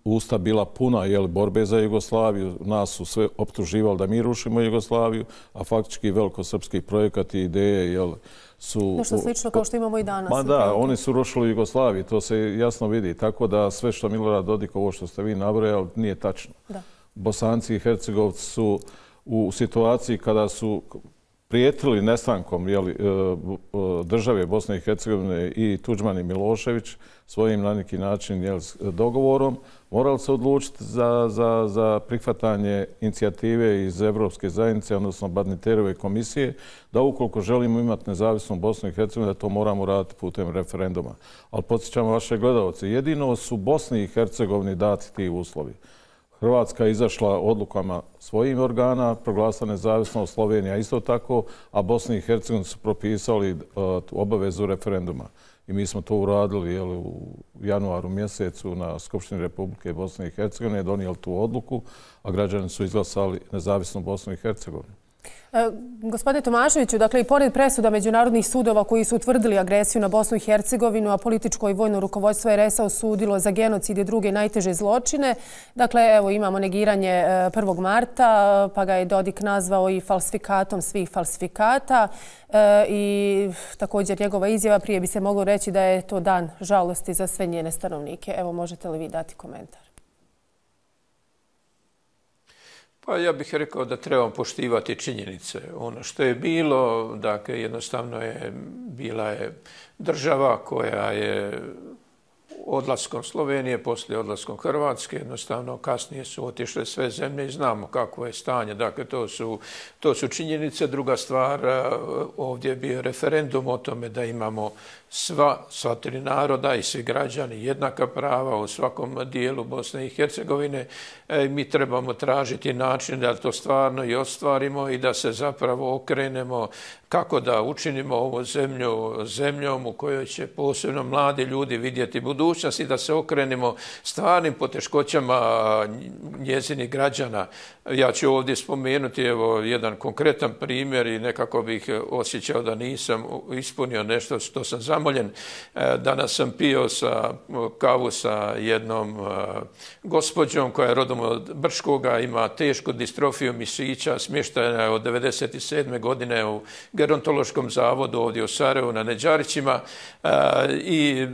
usta bila puna borbe za Jugoslaviju. Nas su sve optuživali da mi rušimo Jugoslaviju, a faktički velikosrpski projekat i ideje su... Nešto slično kao što imamo i danas. Ma da, oni su rušili Jugoslaviju, to se jasno vidi. Tako da sve što Milorad Dodik, ovo što ste vi nabrojali, nije tačno. Bosanci i Hercegovci su u situaciji kada su prijetili nestankom države Bosne i Hercegovine i Tudžman i Milošević svojim na neki način dogovorom, morali se odlučiti za prihvatanje inicijative iz Evropske zajednice, odnosno Badinterove komisije, da ukoliko želimo imati nezavisnu Bosnu i Hercegovinu, da to moramo raditi putem referenduma. Ali podsjećamo vaše gledalce, jedino su Bosni i Hercegovini dati ti uslovi. Hrvatska je izašla odlukama svojih organa, proglasila nezavisnost, Slovenija isto tako, a Bosni i Hercegovini su propisali obavezu referenduma. I mi smo to uradili u januaru mjesecu na Skupštini Republike Bosne i Hercegovine, donijeli tu odluku, a građani su izglasali nezavisnu Bosnu i Hercegovinu. Gospodine Tomaševiću, dakle i pored presuda međunarodnih sudova koji su utvrdili agresiju na Bosnu i Hercegovinu, a političko i vojno rukovodstvo RS-a osudilo za genocid i druge najteže zločine, dakle evo imamo negiranje 1. marta, pa ga je Dodik nazvao i falsifikatom svih falsifikata i također njegova izjava prije bi se moglo reći da je to dan žalosti za sve njene stanovnike. Evo možete li vi dati komentar? Pa ja bih rekao da trebamo poštivati činjenice. Ono što je bilo, dakle, jednostavno bila je država koja je odlaskom Slovenije, poslije odlaskom Hrvatske, jednostavno kasnije su otišle sve zemlje i znamo kakvo je stanje. Dakle, to su činjenice. Druga stvar, ovdje je bio referendum o tome da imamo sva tri naroda i svi građani jednaka prava u svakom dijelu Bosne i Hercegovine. Mi trebamo tražiti način da to stvarno i ostvarimo i da se zapravo okrenemo kako da učinimo ovu zemlju zemljom u kojoj će posebno mladi ljudi vidjeti budućnost i da se okrenemo stvarnim poteškoćama njezinih građana. Ja ću ovdje spomenuti jedan konkretan primjer i nekako bih osjećao da nisam ispunio nešto što sam zamoljen. Danas sam pio kavu sa jednom gospođom koja je rodom od Brškoga, ima tešku distrofiju mišića, smještena je od 1997. godine u gerontološkom zavodu ovdje u Sarajevu na Neđarićima i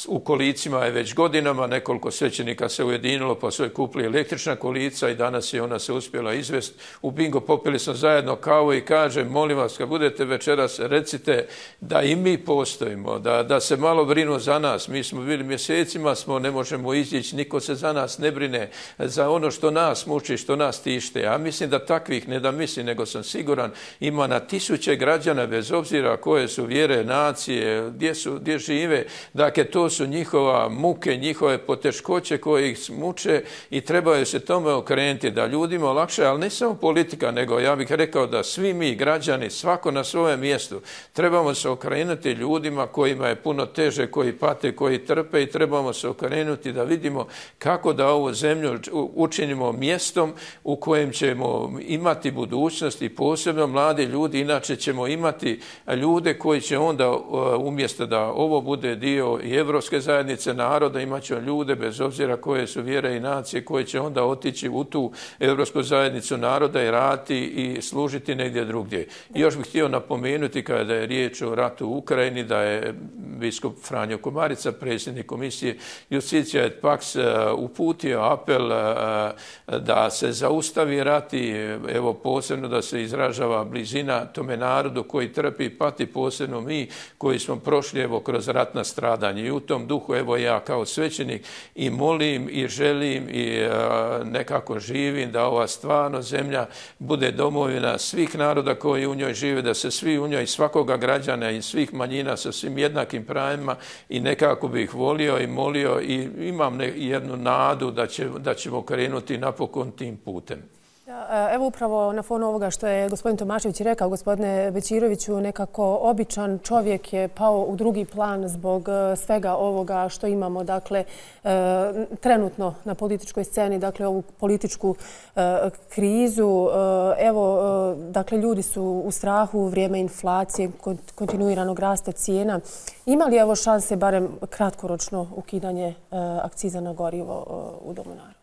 u kolicima je već godinama, nekoliko svećenika se ujedinilo pa su joj kupili električna kolica i danas je ona se uspjela izvesti. U bingo popili smo zajedno kavu i kaže, molim vas, kad budete večeras, recite da i mi postojimo, da se malo brinu za nas. Mi smo bili mjesecima, ne možemo izići, niko se za nas ne brine, za ono što nas muči, što nas tište. Ja mislim da takvih, ne da mislim, nego sam siguran, ima na tisuće građana, bez obzira koje su vjere, nacije, gdje žive. Dakle, to su njihova muke, njihove poteškoće koje ih muče i trebaju se tome okrenuti, da ljudima lakše, ali ne samo politika, nego ja bih rekao da svi mi građani, svako na svojem mjestu, trebamo se okrenuti ljudima kojima je puno teže, koji pate, koji trpe i trebamo se okrenuti da vidimo kako da ovu zemlju učinimo mjestom u kojem ćemo imati budućnost i posebno mladi ljudi, inače ćemo imati ljude koji će onda umjesto da ovo bude dio i Evropske zajednice naroda, imat će ljude bez obzira koje su vjere i nacije koji će onda otići u tu Evropsku zajednicu naroda i raditi i služiti negdje drugdje. I još bih htio napomenuti kada je riječ o ratu u Ukrajini da je biskup Franjo Komarica, predsjednik komisije Justicija et Pax, uputio apel da se zaustavi rat i evo posebno da se izražava blizina tome narodu koji trpi i pati, posebno mi koji smo prošli evo kroz ratna stradanja. I u tom duhu evo ja kao svećenik i molim i želim i nekako živim da ova stvarno zemlja bude domovina svih naroda koji u njoj žive, da se svi u njoj, svakoga građana i svih manjina sa svim jednakim pravima i nekako bih volio i molio i imam jednu nadu da ćemo krenuti napokon tim putem. Evo upravo na fonu ovoga što je gospodin Tomašević rekao, gospodine Bećiroviću, nekako običan čovjek je pao u drugi plan zbog svega ovoga što imamo, dakle, trenutno na političkoj sceni, dakle, ovu političku krizu. Evo, dakle, ljudi su u strahu u vrijeme inflacije, kontinuiranog rasta cijena. Ima li evo šanse, barem kratkoročno, ukidanje akciza na gorivo u Domu naroda?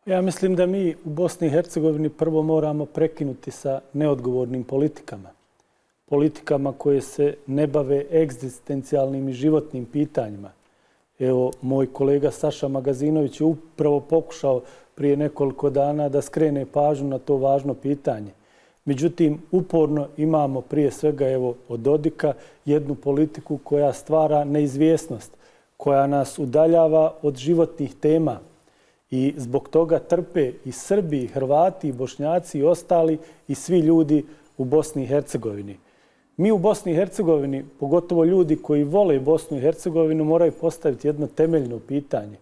Ja mislim da mi u Bosni i Hercegovini prvo moramo prekinuti sa neodgovornim politikama. Politikama koje se ne bave egzistencijalnim i životnim pitanjima. Evo, moj kolega Saša Magazinović je upravo pokušao prije nekoliko dana da skrene pažnju na to važno pitanje. Međutim, uporno imamo prije svega od Dodika jednu politiku koja stvara neizvjesnost, koja nas udaljava od životnih tema i zbog toga trpe i Srbi, i Hrvati, i Bošnjaci, i ostali i svi ljudi u Bosni i Hercegovini. Mi u Bosni i Hercegovini, pogotovo ljudi koji vole Bosnu i Hercegovinu, moraju postaviti jedno temeljno pitanje.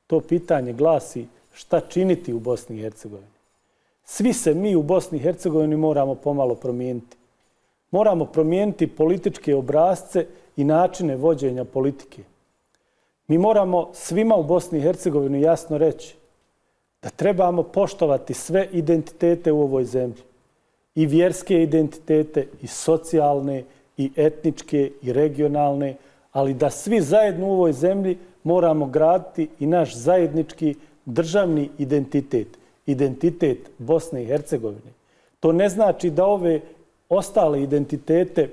To pitanje glasi šta činiti u Bosni i Hercegovini. Svi se mi u Bosni i Hercegovini moramo pomalo promijeniti. Moramo promijeniti političke obrasce i načine vođenja politike. Mi moramo svima u Bosni i Hercegovini jasno reći da trebamo poštovati sve identitete u ovoj zemlji. I vjerske identitete, i socijalne, i etničke, i regionalne, ali da svi zajedno u ovoj zemlji moramo graditi i naš zajednički državni identitet. Identitet Bosne i Hercegovine. To ne znači da ove ostale identitete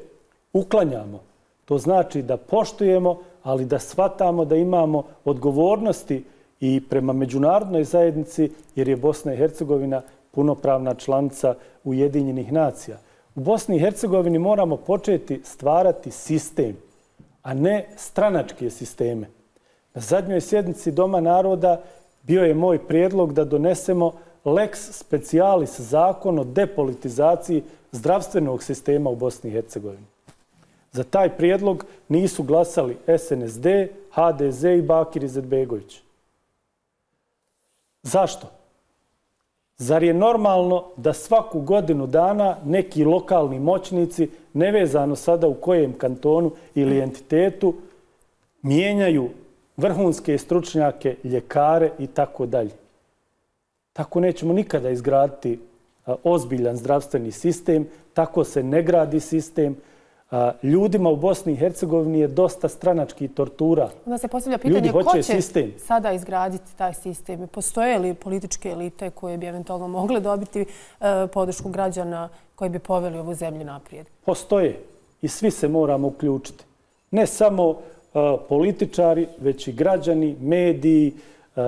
uklanjamo. To znači da poštujemo, ali da shvatamo da imamo odgovornosti i prema međunarodnoj zajednici, jer je Bosna i Hercegovina punopravna članica Ujedinjenih nacija. U Bosni i Hercegovini moramo početi stvarati sistem, a ne stranačke sisteme. Na zadnjoj sjednici Doma naroda bio je moj prijedlog da donesemo lex specialis, zakon o depolitizaciji zdravstvenog sistema u Bosni i Hercegovini. Za taj prijedlog nisu glasali SNSD, HDZ i Bakir Izetbegović. Zašto? Zar je normalno da svaku godinu dana neki lokalni moćnici, nevezano sada u kojem kantonu ili entitetu, mijenjaju vrhunske stručnjake, ljekare i tako dalje? Tako nećemo nikada izgraditi ozbiljan zdravstveni sistem, tako se ne gradi sistem. Ljudima u Bosni i Hercegovini je dosta stranačkih tortura. Onda se postavlja pitanje ko će sada izgraditi taj sistem? Postoje li političke elite koje bi eventualno mogle dobiti podršku građana koji bi poveli ovu zemlju naprijed? Postoje i svi se moramo uključiti. Ne samo političari, već i građani, mediji,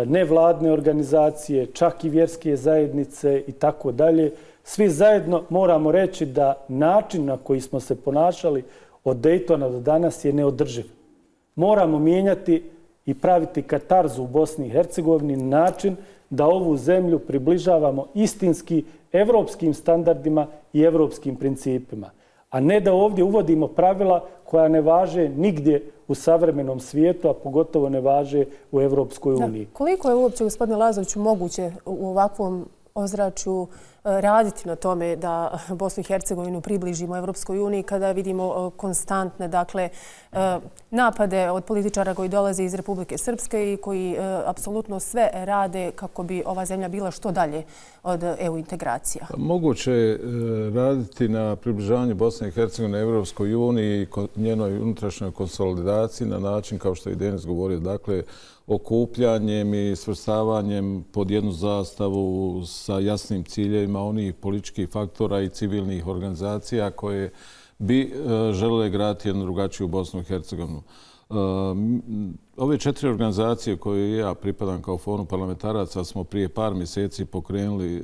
nevladne organizacije, čak i vjerske zajednice i tako dalje. Svi zajedno moramo reći da način na koji smo se ponašali od Dejtona do danas je neodrživ. Moramo mijenjati i praviti katarzu u Bosni i Hercegovini na način da ovu zemlju približavamo istinski evropskim standardima i evropskim principima. A ne da ovdje uvodimo pravila koja ne važe nigdje u savremenom svijetu, a pogotovo ne važe u Evropskoj uniji. Koliko je uopće, gospodine Lazoviću, moguće u ovakvom ozračju raditi na tome da Bosnu i Hercegovinu približimo Evropskoj uniji kada vidimo konstantne napade od političara koji dolaze iz Republike Srpske i koji apsolutno sve rade kako bi ova zemlja bila što dalje od EU integracija? Moguće je raditi na približavanju Bosne i Hercegovine Evropskoj uniji i njenoj unutrašnjoj konsolidaciji na način, kao što je Denis govorio, dakle, okupljanjem i svrstavanjem pod jednu zastavu sa jasnim ciljevima onih političkih faktora i civilnih organizacija koje bi želele graditi jednu drugačiju Bosnu i Hercegovinu. Ove 4 organizacije koje ja pripadam kao Forum parlamentaraca smo prije par mjeseci pokrenuli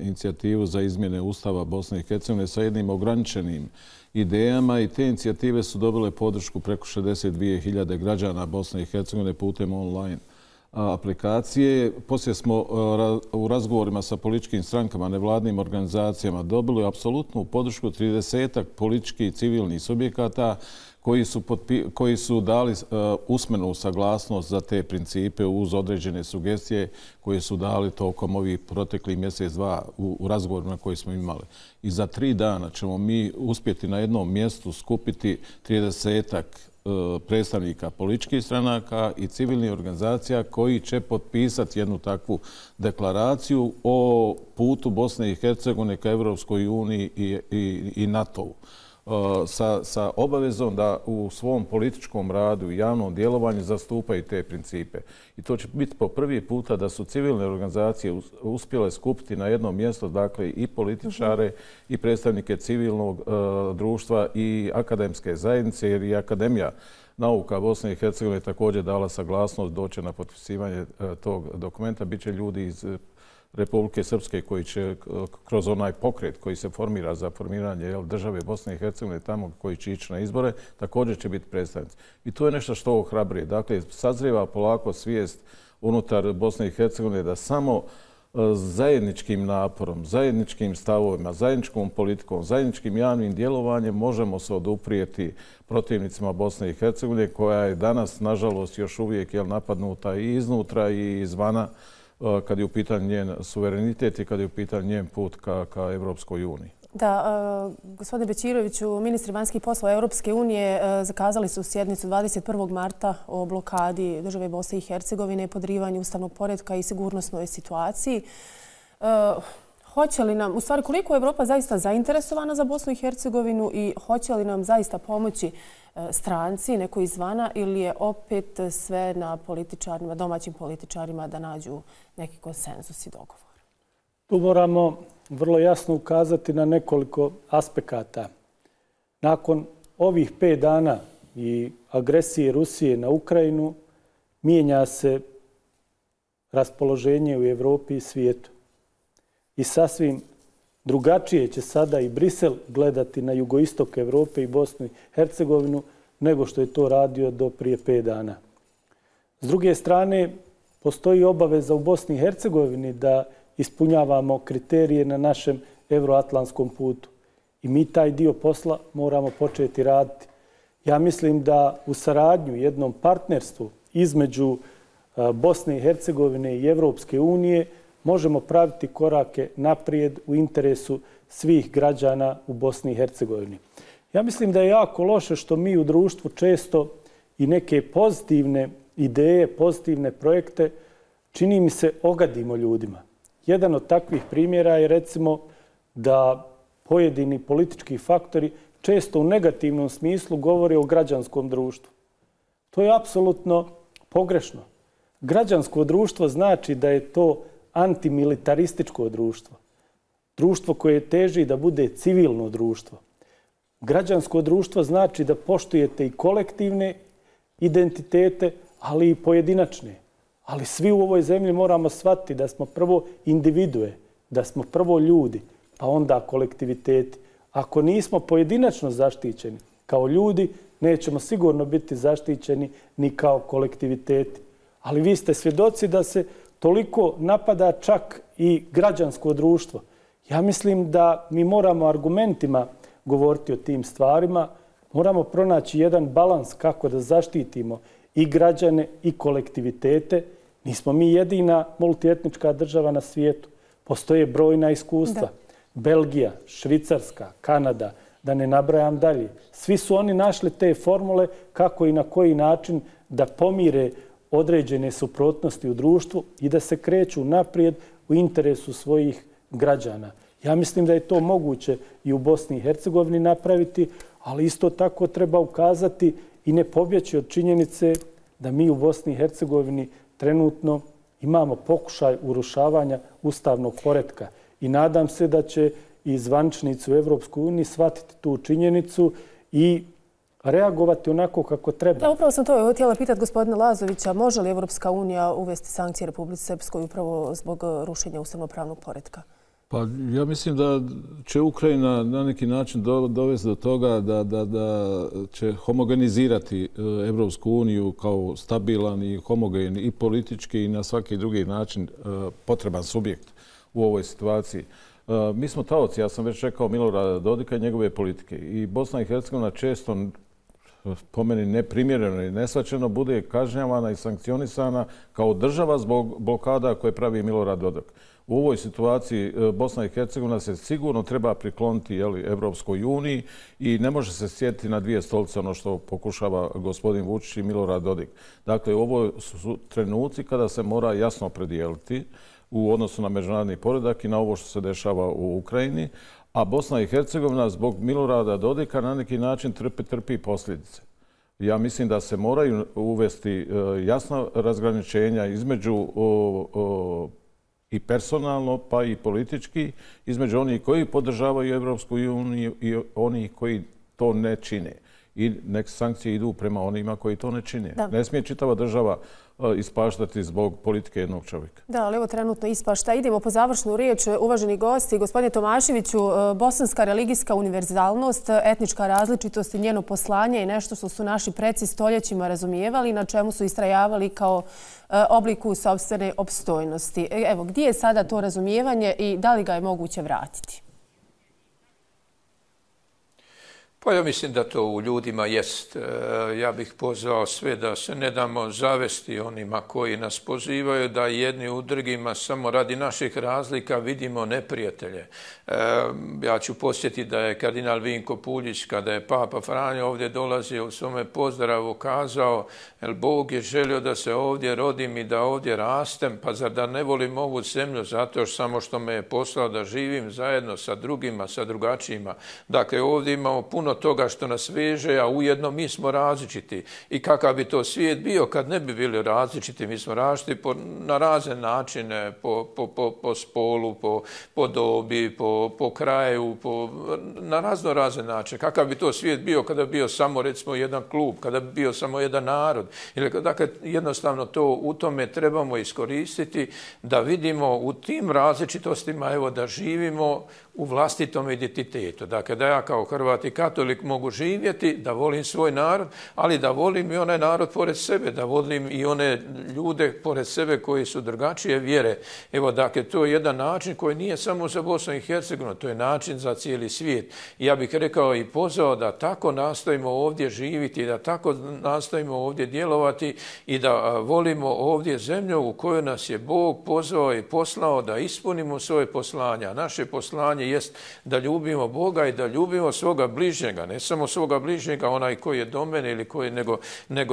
inicijativu za izmjene Ustava Bosne i Hercegovine sa jednim ograničenim idejama i te inicijative su dobile podršku preko 62.000 građana Bosne i Hercegovine putem online aplikacije. Poslije smo u razgovorima sa političkim strankama, nevladnim organizacijama dobili apsolutnu podršku 30-ak političkih i civilnih subjekata koji su dali usmenu saglasnost za te principe uz određene sugestije koje su dali tokom ovih proteklih mjesec, dva u razgovorima koji smo imali. I za 3 dana ćemo mi uspjeti na jednom mjestu skupiti 30-ak predstavnika političkih stranaka i civilnih organizacija koji će potpisati jednu takvu deklaraciju o putu Bosne i Hercegovine ka Evropskoj uniji i NATO-u. Sa obavezom da u svom političkom radu i javnom djelovanju zastupaju te principe. I to će biti po prvi puta da su civilne organizacije uspjele skupiti na jedno mjesto, dakle, i političare i predstavnike civilnog društva i akademske zajednice, jer i Akademija nauka Bosne i Hercegovine također dala saglasnost doći na potpisivanje tog dokumenta. Biće ljudi iz Republike Srpske koji će kroz onaj pokret koji se formira za formiranje države Bosne i Hercegovine tamo koji će ići na izbore, također će biti predstavnici. I to je nešto što ohrabruje. Dakle, sazrijeva polako svijest unutar Bosne i Hercegovine da samo zajedničkim naporom, zajedničkim stavovima, zajedničkom politikom, zajedničkim javnim djelovanjem možemo se oduprijeti protivnicima Bosne i Hercegovine koja je danas, nažalost, još uvijek napadnuta i iznutra i izvana kad je u pitanju njen suverenitet i kad je u pitanju njen put ka Evropskoj uniji. Da, gospodine Bećiroviću, ministri vanjskih poslova Europske unije zakazali su sjednicu 21. marta o blokadi države Bosne i Hercegovine, podrivanju ustavnog poretka i sigurnosnoj situaciji. Hoće li nam, u stvari koliko je Evropa zaista zainteresovana za Bosnu i Hercegovinu i hoće li nam zaista pomoći stranci, neko izvana, ili je opet sve na političarima, domaćim političarima da nađu neki konsenzus i dogovor? Tu moramo vrlo jasno ukazati na nekoliko aspekata. Nakon ovih 5 dana i agresije Rusije na Ukrajinu mijenja se raspoloženje u Evropi i svijetu. I sasvim drugačije će sada i Brisel gledati na jugoistok Evrope i Bosnu i Hercegovinu nego što je to radio do prije 5 dana. S druge strane, postoji obaveza u Bosni i Hercegovini da ispunjavamo kriterije na našem euroatlantskom putu. I mi taj dio posla moramo početi raditi. Ja mislim da u saradnju, jednom partnerstvu između Bosne i Hercegovine i Evropske unije možemo praviti korake naprijed u interesu svih građana u Bosni i Hercegovini. Ja mislim da je jako loše što mi u društvu često i neke pozitivne ideje, pozitivne projekte, čini mi se, ogadimo ljudima. Jedan od takvih primjera je recimo da pojedini politički faktori često u negativnom smislu govore o građanskom društvu. To je apsolutno pogrešno. Građansko društvo znači da je to antimilitarističko društvo. Društvo koje teži da bude civilno društvo. Građansko društvo znači da poštujete i kolektivne identitete, ali i pojedinačne. Ali svi u ovoj zemlji moramo shvatiti da smo prvo individue, da smo prvo ljudi, pa onda kolektiviteti. Ako nismo pojedinačno zaštićeni kao ljudi, nećemo sigurno biti zaštićeni ni kao kolektiviteti. Ali vi ste svjedoci da se toliko napada čak i građansko društvo. Ja mislim da mi moramo argumentima govoriti o tim stvarima, moramo pronaći jedan balans kako da zaštitimo i građane i kolektivitete. Nismo mi jedina multietnička država na svijetu. Postoje brojna iskustva. Da. Belgija, Švicarska, Kanada, da ne nabrajam dalje. Svi su oni našli te formule kako i na koji način da pomire određene suprotnosti u društvu i da se kreću naprijed u interesu svojih građana. Ja mislim da je to moguće i u Bosni i Hercegovini napraviti, ali isto tako treba ukazati i ne pobjeći od činjenice da mi u Bosni i Hercegovini trenutno imamo pokušaj urušavanja ustavnog poretka. I nadam se da će i zvaničnici u Evropskoj uniji shvatiti tu činjenicu i reagovati onako kako treba. Da, upravo sam to htjela pitati gospodina Lazovića. Može li Evropska unija uvesti sankcije Republici Srpskoj upravo zbog rušenja ustavno-pravnog poretka? Pa ja mislim da će Ukrajina na neki način dovesti do toga da će homogenizirati Evropsku uniju kao stabilan i homogen i politički i na svaki drugi način potreban subjekt u ovoj situaciji. Mi smo taoci, ja sam već rekao, Milorada Dodika i njegove politike. I Bosna i Hercegovina često, po meni neprimjereno i nesvaćeno, bude kažnjavana i sankcionisana kao država zbog blokada koje pravi Milorad Dodik. U ovoj situaciji Bosna i Hercegovina se sigurno treba prikloniti Evropskoj uniji i ne može se sjetiti na dvije stolice ono što pokušava gospodin Vučić i Milorad Dodik. Dakle, ovo su trenuci kada se mora jasno opredijeliti u odnosu na međunarodni poredak i na ovo što se dešava u Ukrajini, a Bosna i Hercegovina zbog Milorada Dodika na neki način trpi posljedice. Ja mislim da se moraju uvesti jasna razgraničenja između i personalno, pa i politički, između onih koji podržavaju Evropsku uniju i onih koji to ne čine. i neke sankcije idu prema onima koji to ne čine. Ne smije čitava država ispaštati zbog politike jednog čovjeka. Da, ali evo trenutno ispašta. Idemo po završnu riječ. Uvaženi gosti, gospodine Tomaševiću, bosanska religijska univerzalnost, etnička različitost i njeno poslanje je nešto što su naši preci stoljećima razumijevali, na čemu su istrajavali kao obliku sopstvene opstojnosti. Evo, gdje je sada to razumijevanje i da li ga je moguće vratiti? Pa ja mislim da to u ljudima jest. Ja bih pozvao sve da se ne damo zavesti onima koji nas pozivaju da jedni u drugima samo radi naših razlika vidimo neprijatelje. Ja ću posjetiti da je kardinal Vinko Puljić, kada je Papa Franjo ovdje dolazio u svome pozdravu, kazao: "Jel Bog je želio da se ovdje rodim i da ovdje rastem, pa zar da ne volim ovu zemlju zato samo što me je poslao da živim zajedno sa drugima, sa drugačijima." Dakle, ovdje imamo puno toga što nas veže, a ujedno mi smo različiti. I kakav bi to svijet bio kad ne bi bili različiti? Mi smo različiti na razne načine, po spolu, po dobi, po kraju, na razne načine. Kakav bi to svijet bio kada bi bio samo, recimo, jedan klub, kada bi bio samo jedan narod? Dakle, jednostavno to u tome trebamo iskoristiti da vidimo u tim različitostima, evo, da živimo u vlastitom identitetu. Dakle, da ja kao Hrvat i katolik mogu živjeti, da volim svoj narod, ali da volim i onaj narod pored sebe, da volim i one ljude pored sebe koji su drugačije vjere. Evo, dakle, to je jedan način koji nije samo za Bosnu i Hercegovinu, to je način za cijeli svijet. Ja bih rekao i pozvao da tako nastojimo ovdje živjeti, da tako nastojimo ovdje djelovati i da volimo ovdje zemlju u kojoj nas je Bog pozvao i poslao da ispunimo svoje poslanja. Naše poslanje jest da ljubimo Boga i da ljubimo svoga bližnjega, ne samo svoga bližnjega, onaj koji je do mene ili koji,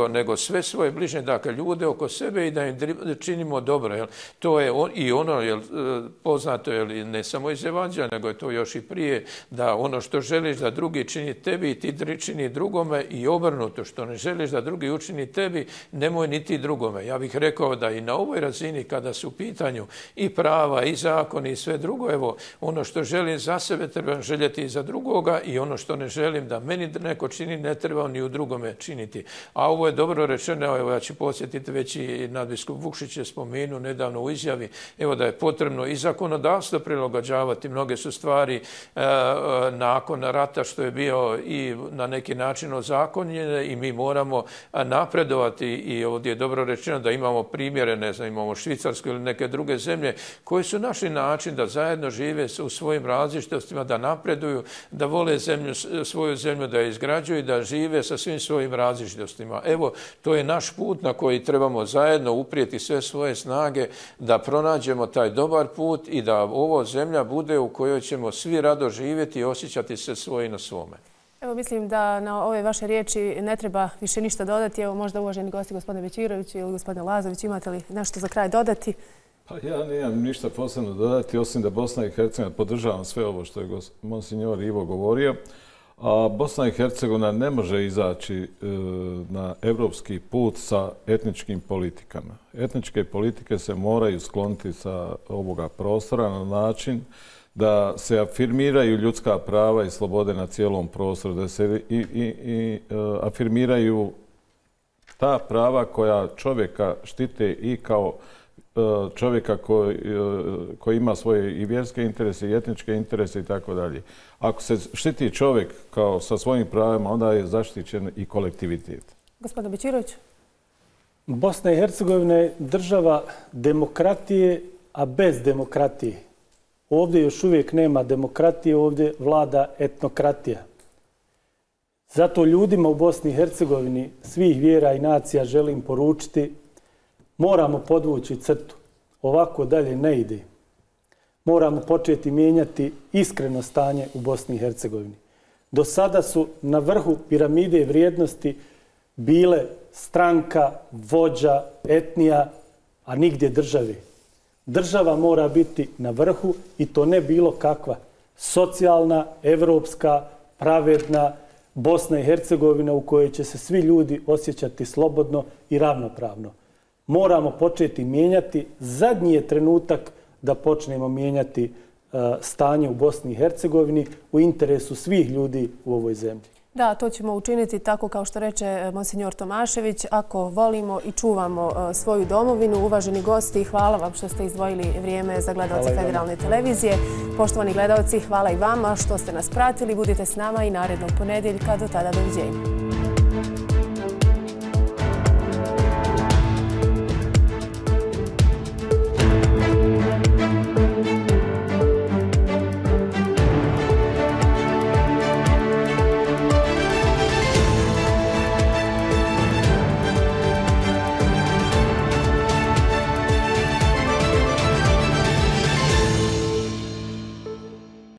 nego sve svoje bližnje, dakle ljude oko sebe i da im činimo dobro. Jel? To je i ono, jel, poznato, jel, ne samo iz Evanđelja, nego je to još i prije, da ono što želiš da drugi čini tebi, ti čini drugome, i obrnuto, što ne želiš da drugi učini tebi, nemoj niti drugome. Ja bih rekao da i na ovoj razini, kada su u pitanju i prava i zakoni i sve drugo, evo, ono što želim za sebe trebam željeti i za drugoga, i ono što ne želim da meni neko čini ne treba ni u drugome činiti. A ovo je dobro rečeno, evo, ja ću podsjetiti, već i nadbiskup Vukšić je spomenuo nedavno u izjavi, evo, da je potrebno i zakonodavstvo prilagođavati. Mnoge su stvari nakon rata što je bio i na neki način ozakonjene i mi moramo napredovati, i ovdje je dobro rečeno da imamo primjere, ne znam, imamo Švicarsku ili neke druge zemlje koji su našli način da zajedno žive u svojim različitostima, da napreduju, da vole svoju zemlju, da je izgrađuju i da žive sa svim svojim različitostima. Evo, to je naš put na koji trebamo zajedno uprijeti sve svoje snage da pronađemo taj dobar put i da ovo zemlja bude u kojoj ćemo svi rado živjeti i osjećati se svoji na svome. Evo, mislim da na ove vaše riječi ne treba više ništa dodati. Evo, možda uvaženi gosti, gospodine Bećirović ili gospodine Lazović, imate li nešto za kraj dodati? Pa ja nemam ništa posebno dodati, osim da Bosna i Hercegovina, podržavam sve ovo što je monsinjor Ivo govorio, a Bosna i Hercegovina ne može izaći na evropski put sa etničkim politikama. Etničke politike se moraju skloniti sa ovoga prostora na način da se afirmiraju ljudska prava i slobode na cijelom prostoru, da se afirmiraju ta prava koja čovjeka štite i kao čovjeka koji ima svoje i vjerske interese i etničke interese i tako dalje. Ako se štiti čovjek kao sa svojim pravima, onda je zaštićen i kolektivitet. Gospodin Bećirović. Bosna i Hercegovina je država demokratije, a bez demokratije. Ovdje još uvijek nema demokratije, ovdje vlada etnokratija. Zato ljudima u Bosni i Hercegovini svih vjera i nacija želim poručiti: moramo podvući crtu. Ovako dalje ne ide. Moramo početi mijenjati iskreno stanje u Bosni i Hercegovini. Do sada su na vrhu piramide vrijednosti bile stranka, vođa, etnija, a nigdje države. Država mora biti na vrhu, i to ne bilo kakva. Socijalna, evropska, pravedna Bosna i Hercegovina u kojoj će se svi ljudi osjećati slobodno i ravnopravno. Moramo početi mijenjati. Zadnji je trenutak da počnemo mijenjati stanje u Bosni i Hercegovini u interesu svih ljudi u ovoj zemlji. Da, to ćemo učiniti tako kao što reče monsignor Tomašević, ako volimo i čuvamo svoju domovinu. Uvaženi gosti, hvala vam što ste izdvojili vrijeme za gledaoce Federalne televizije. Poštovani gledaoci, hvala i vama što ste nas pratili. Budite s nama i narednog ponedjeljka. Do tada, doviđenja.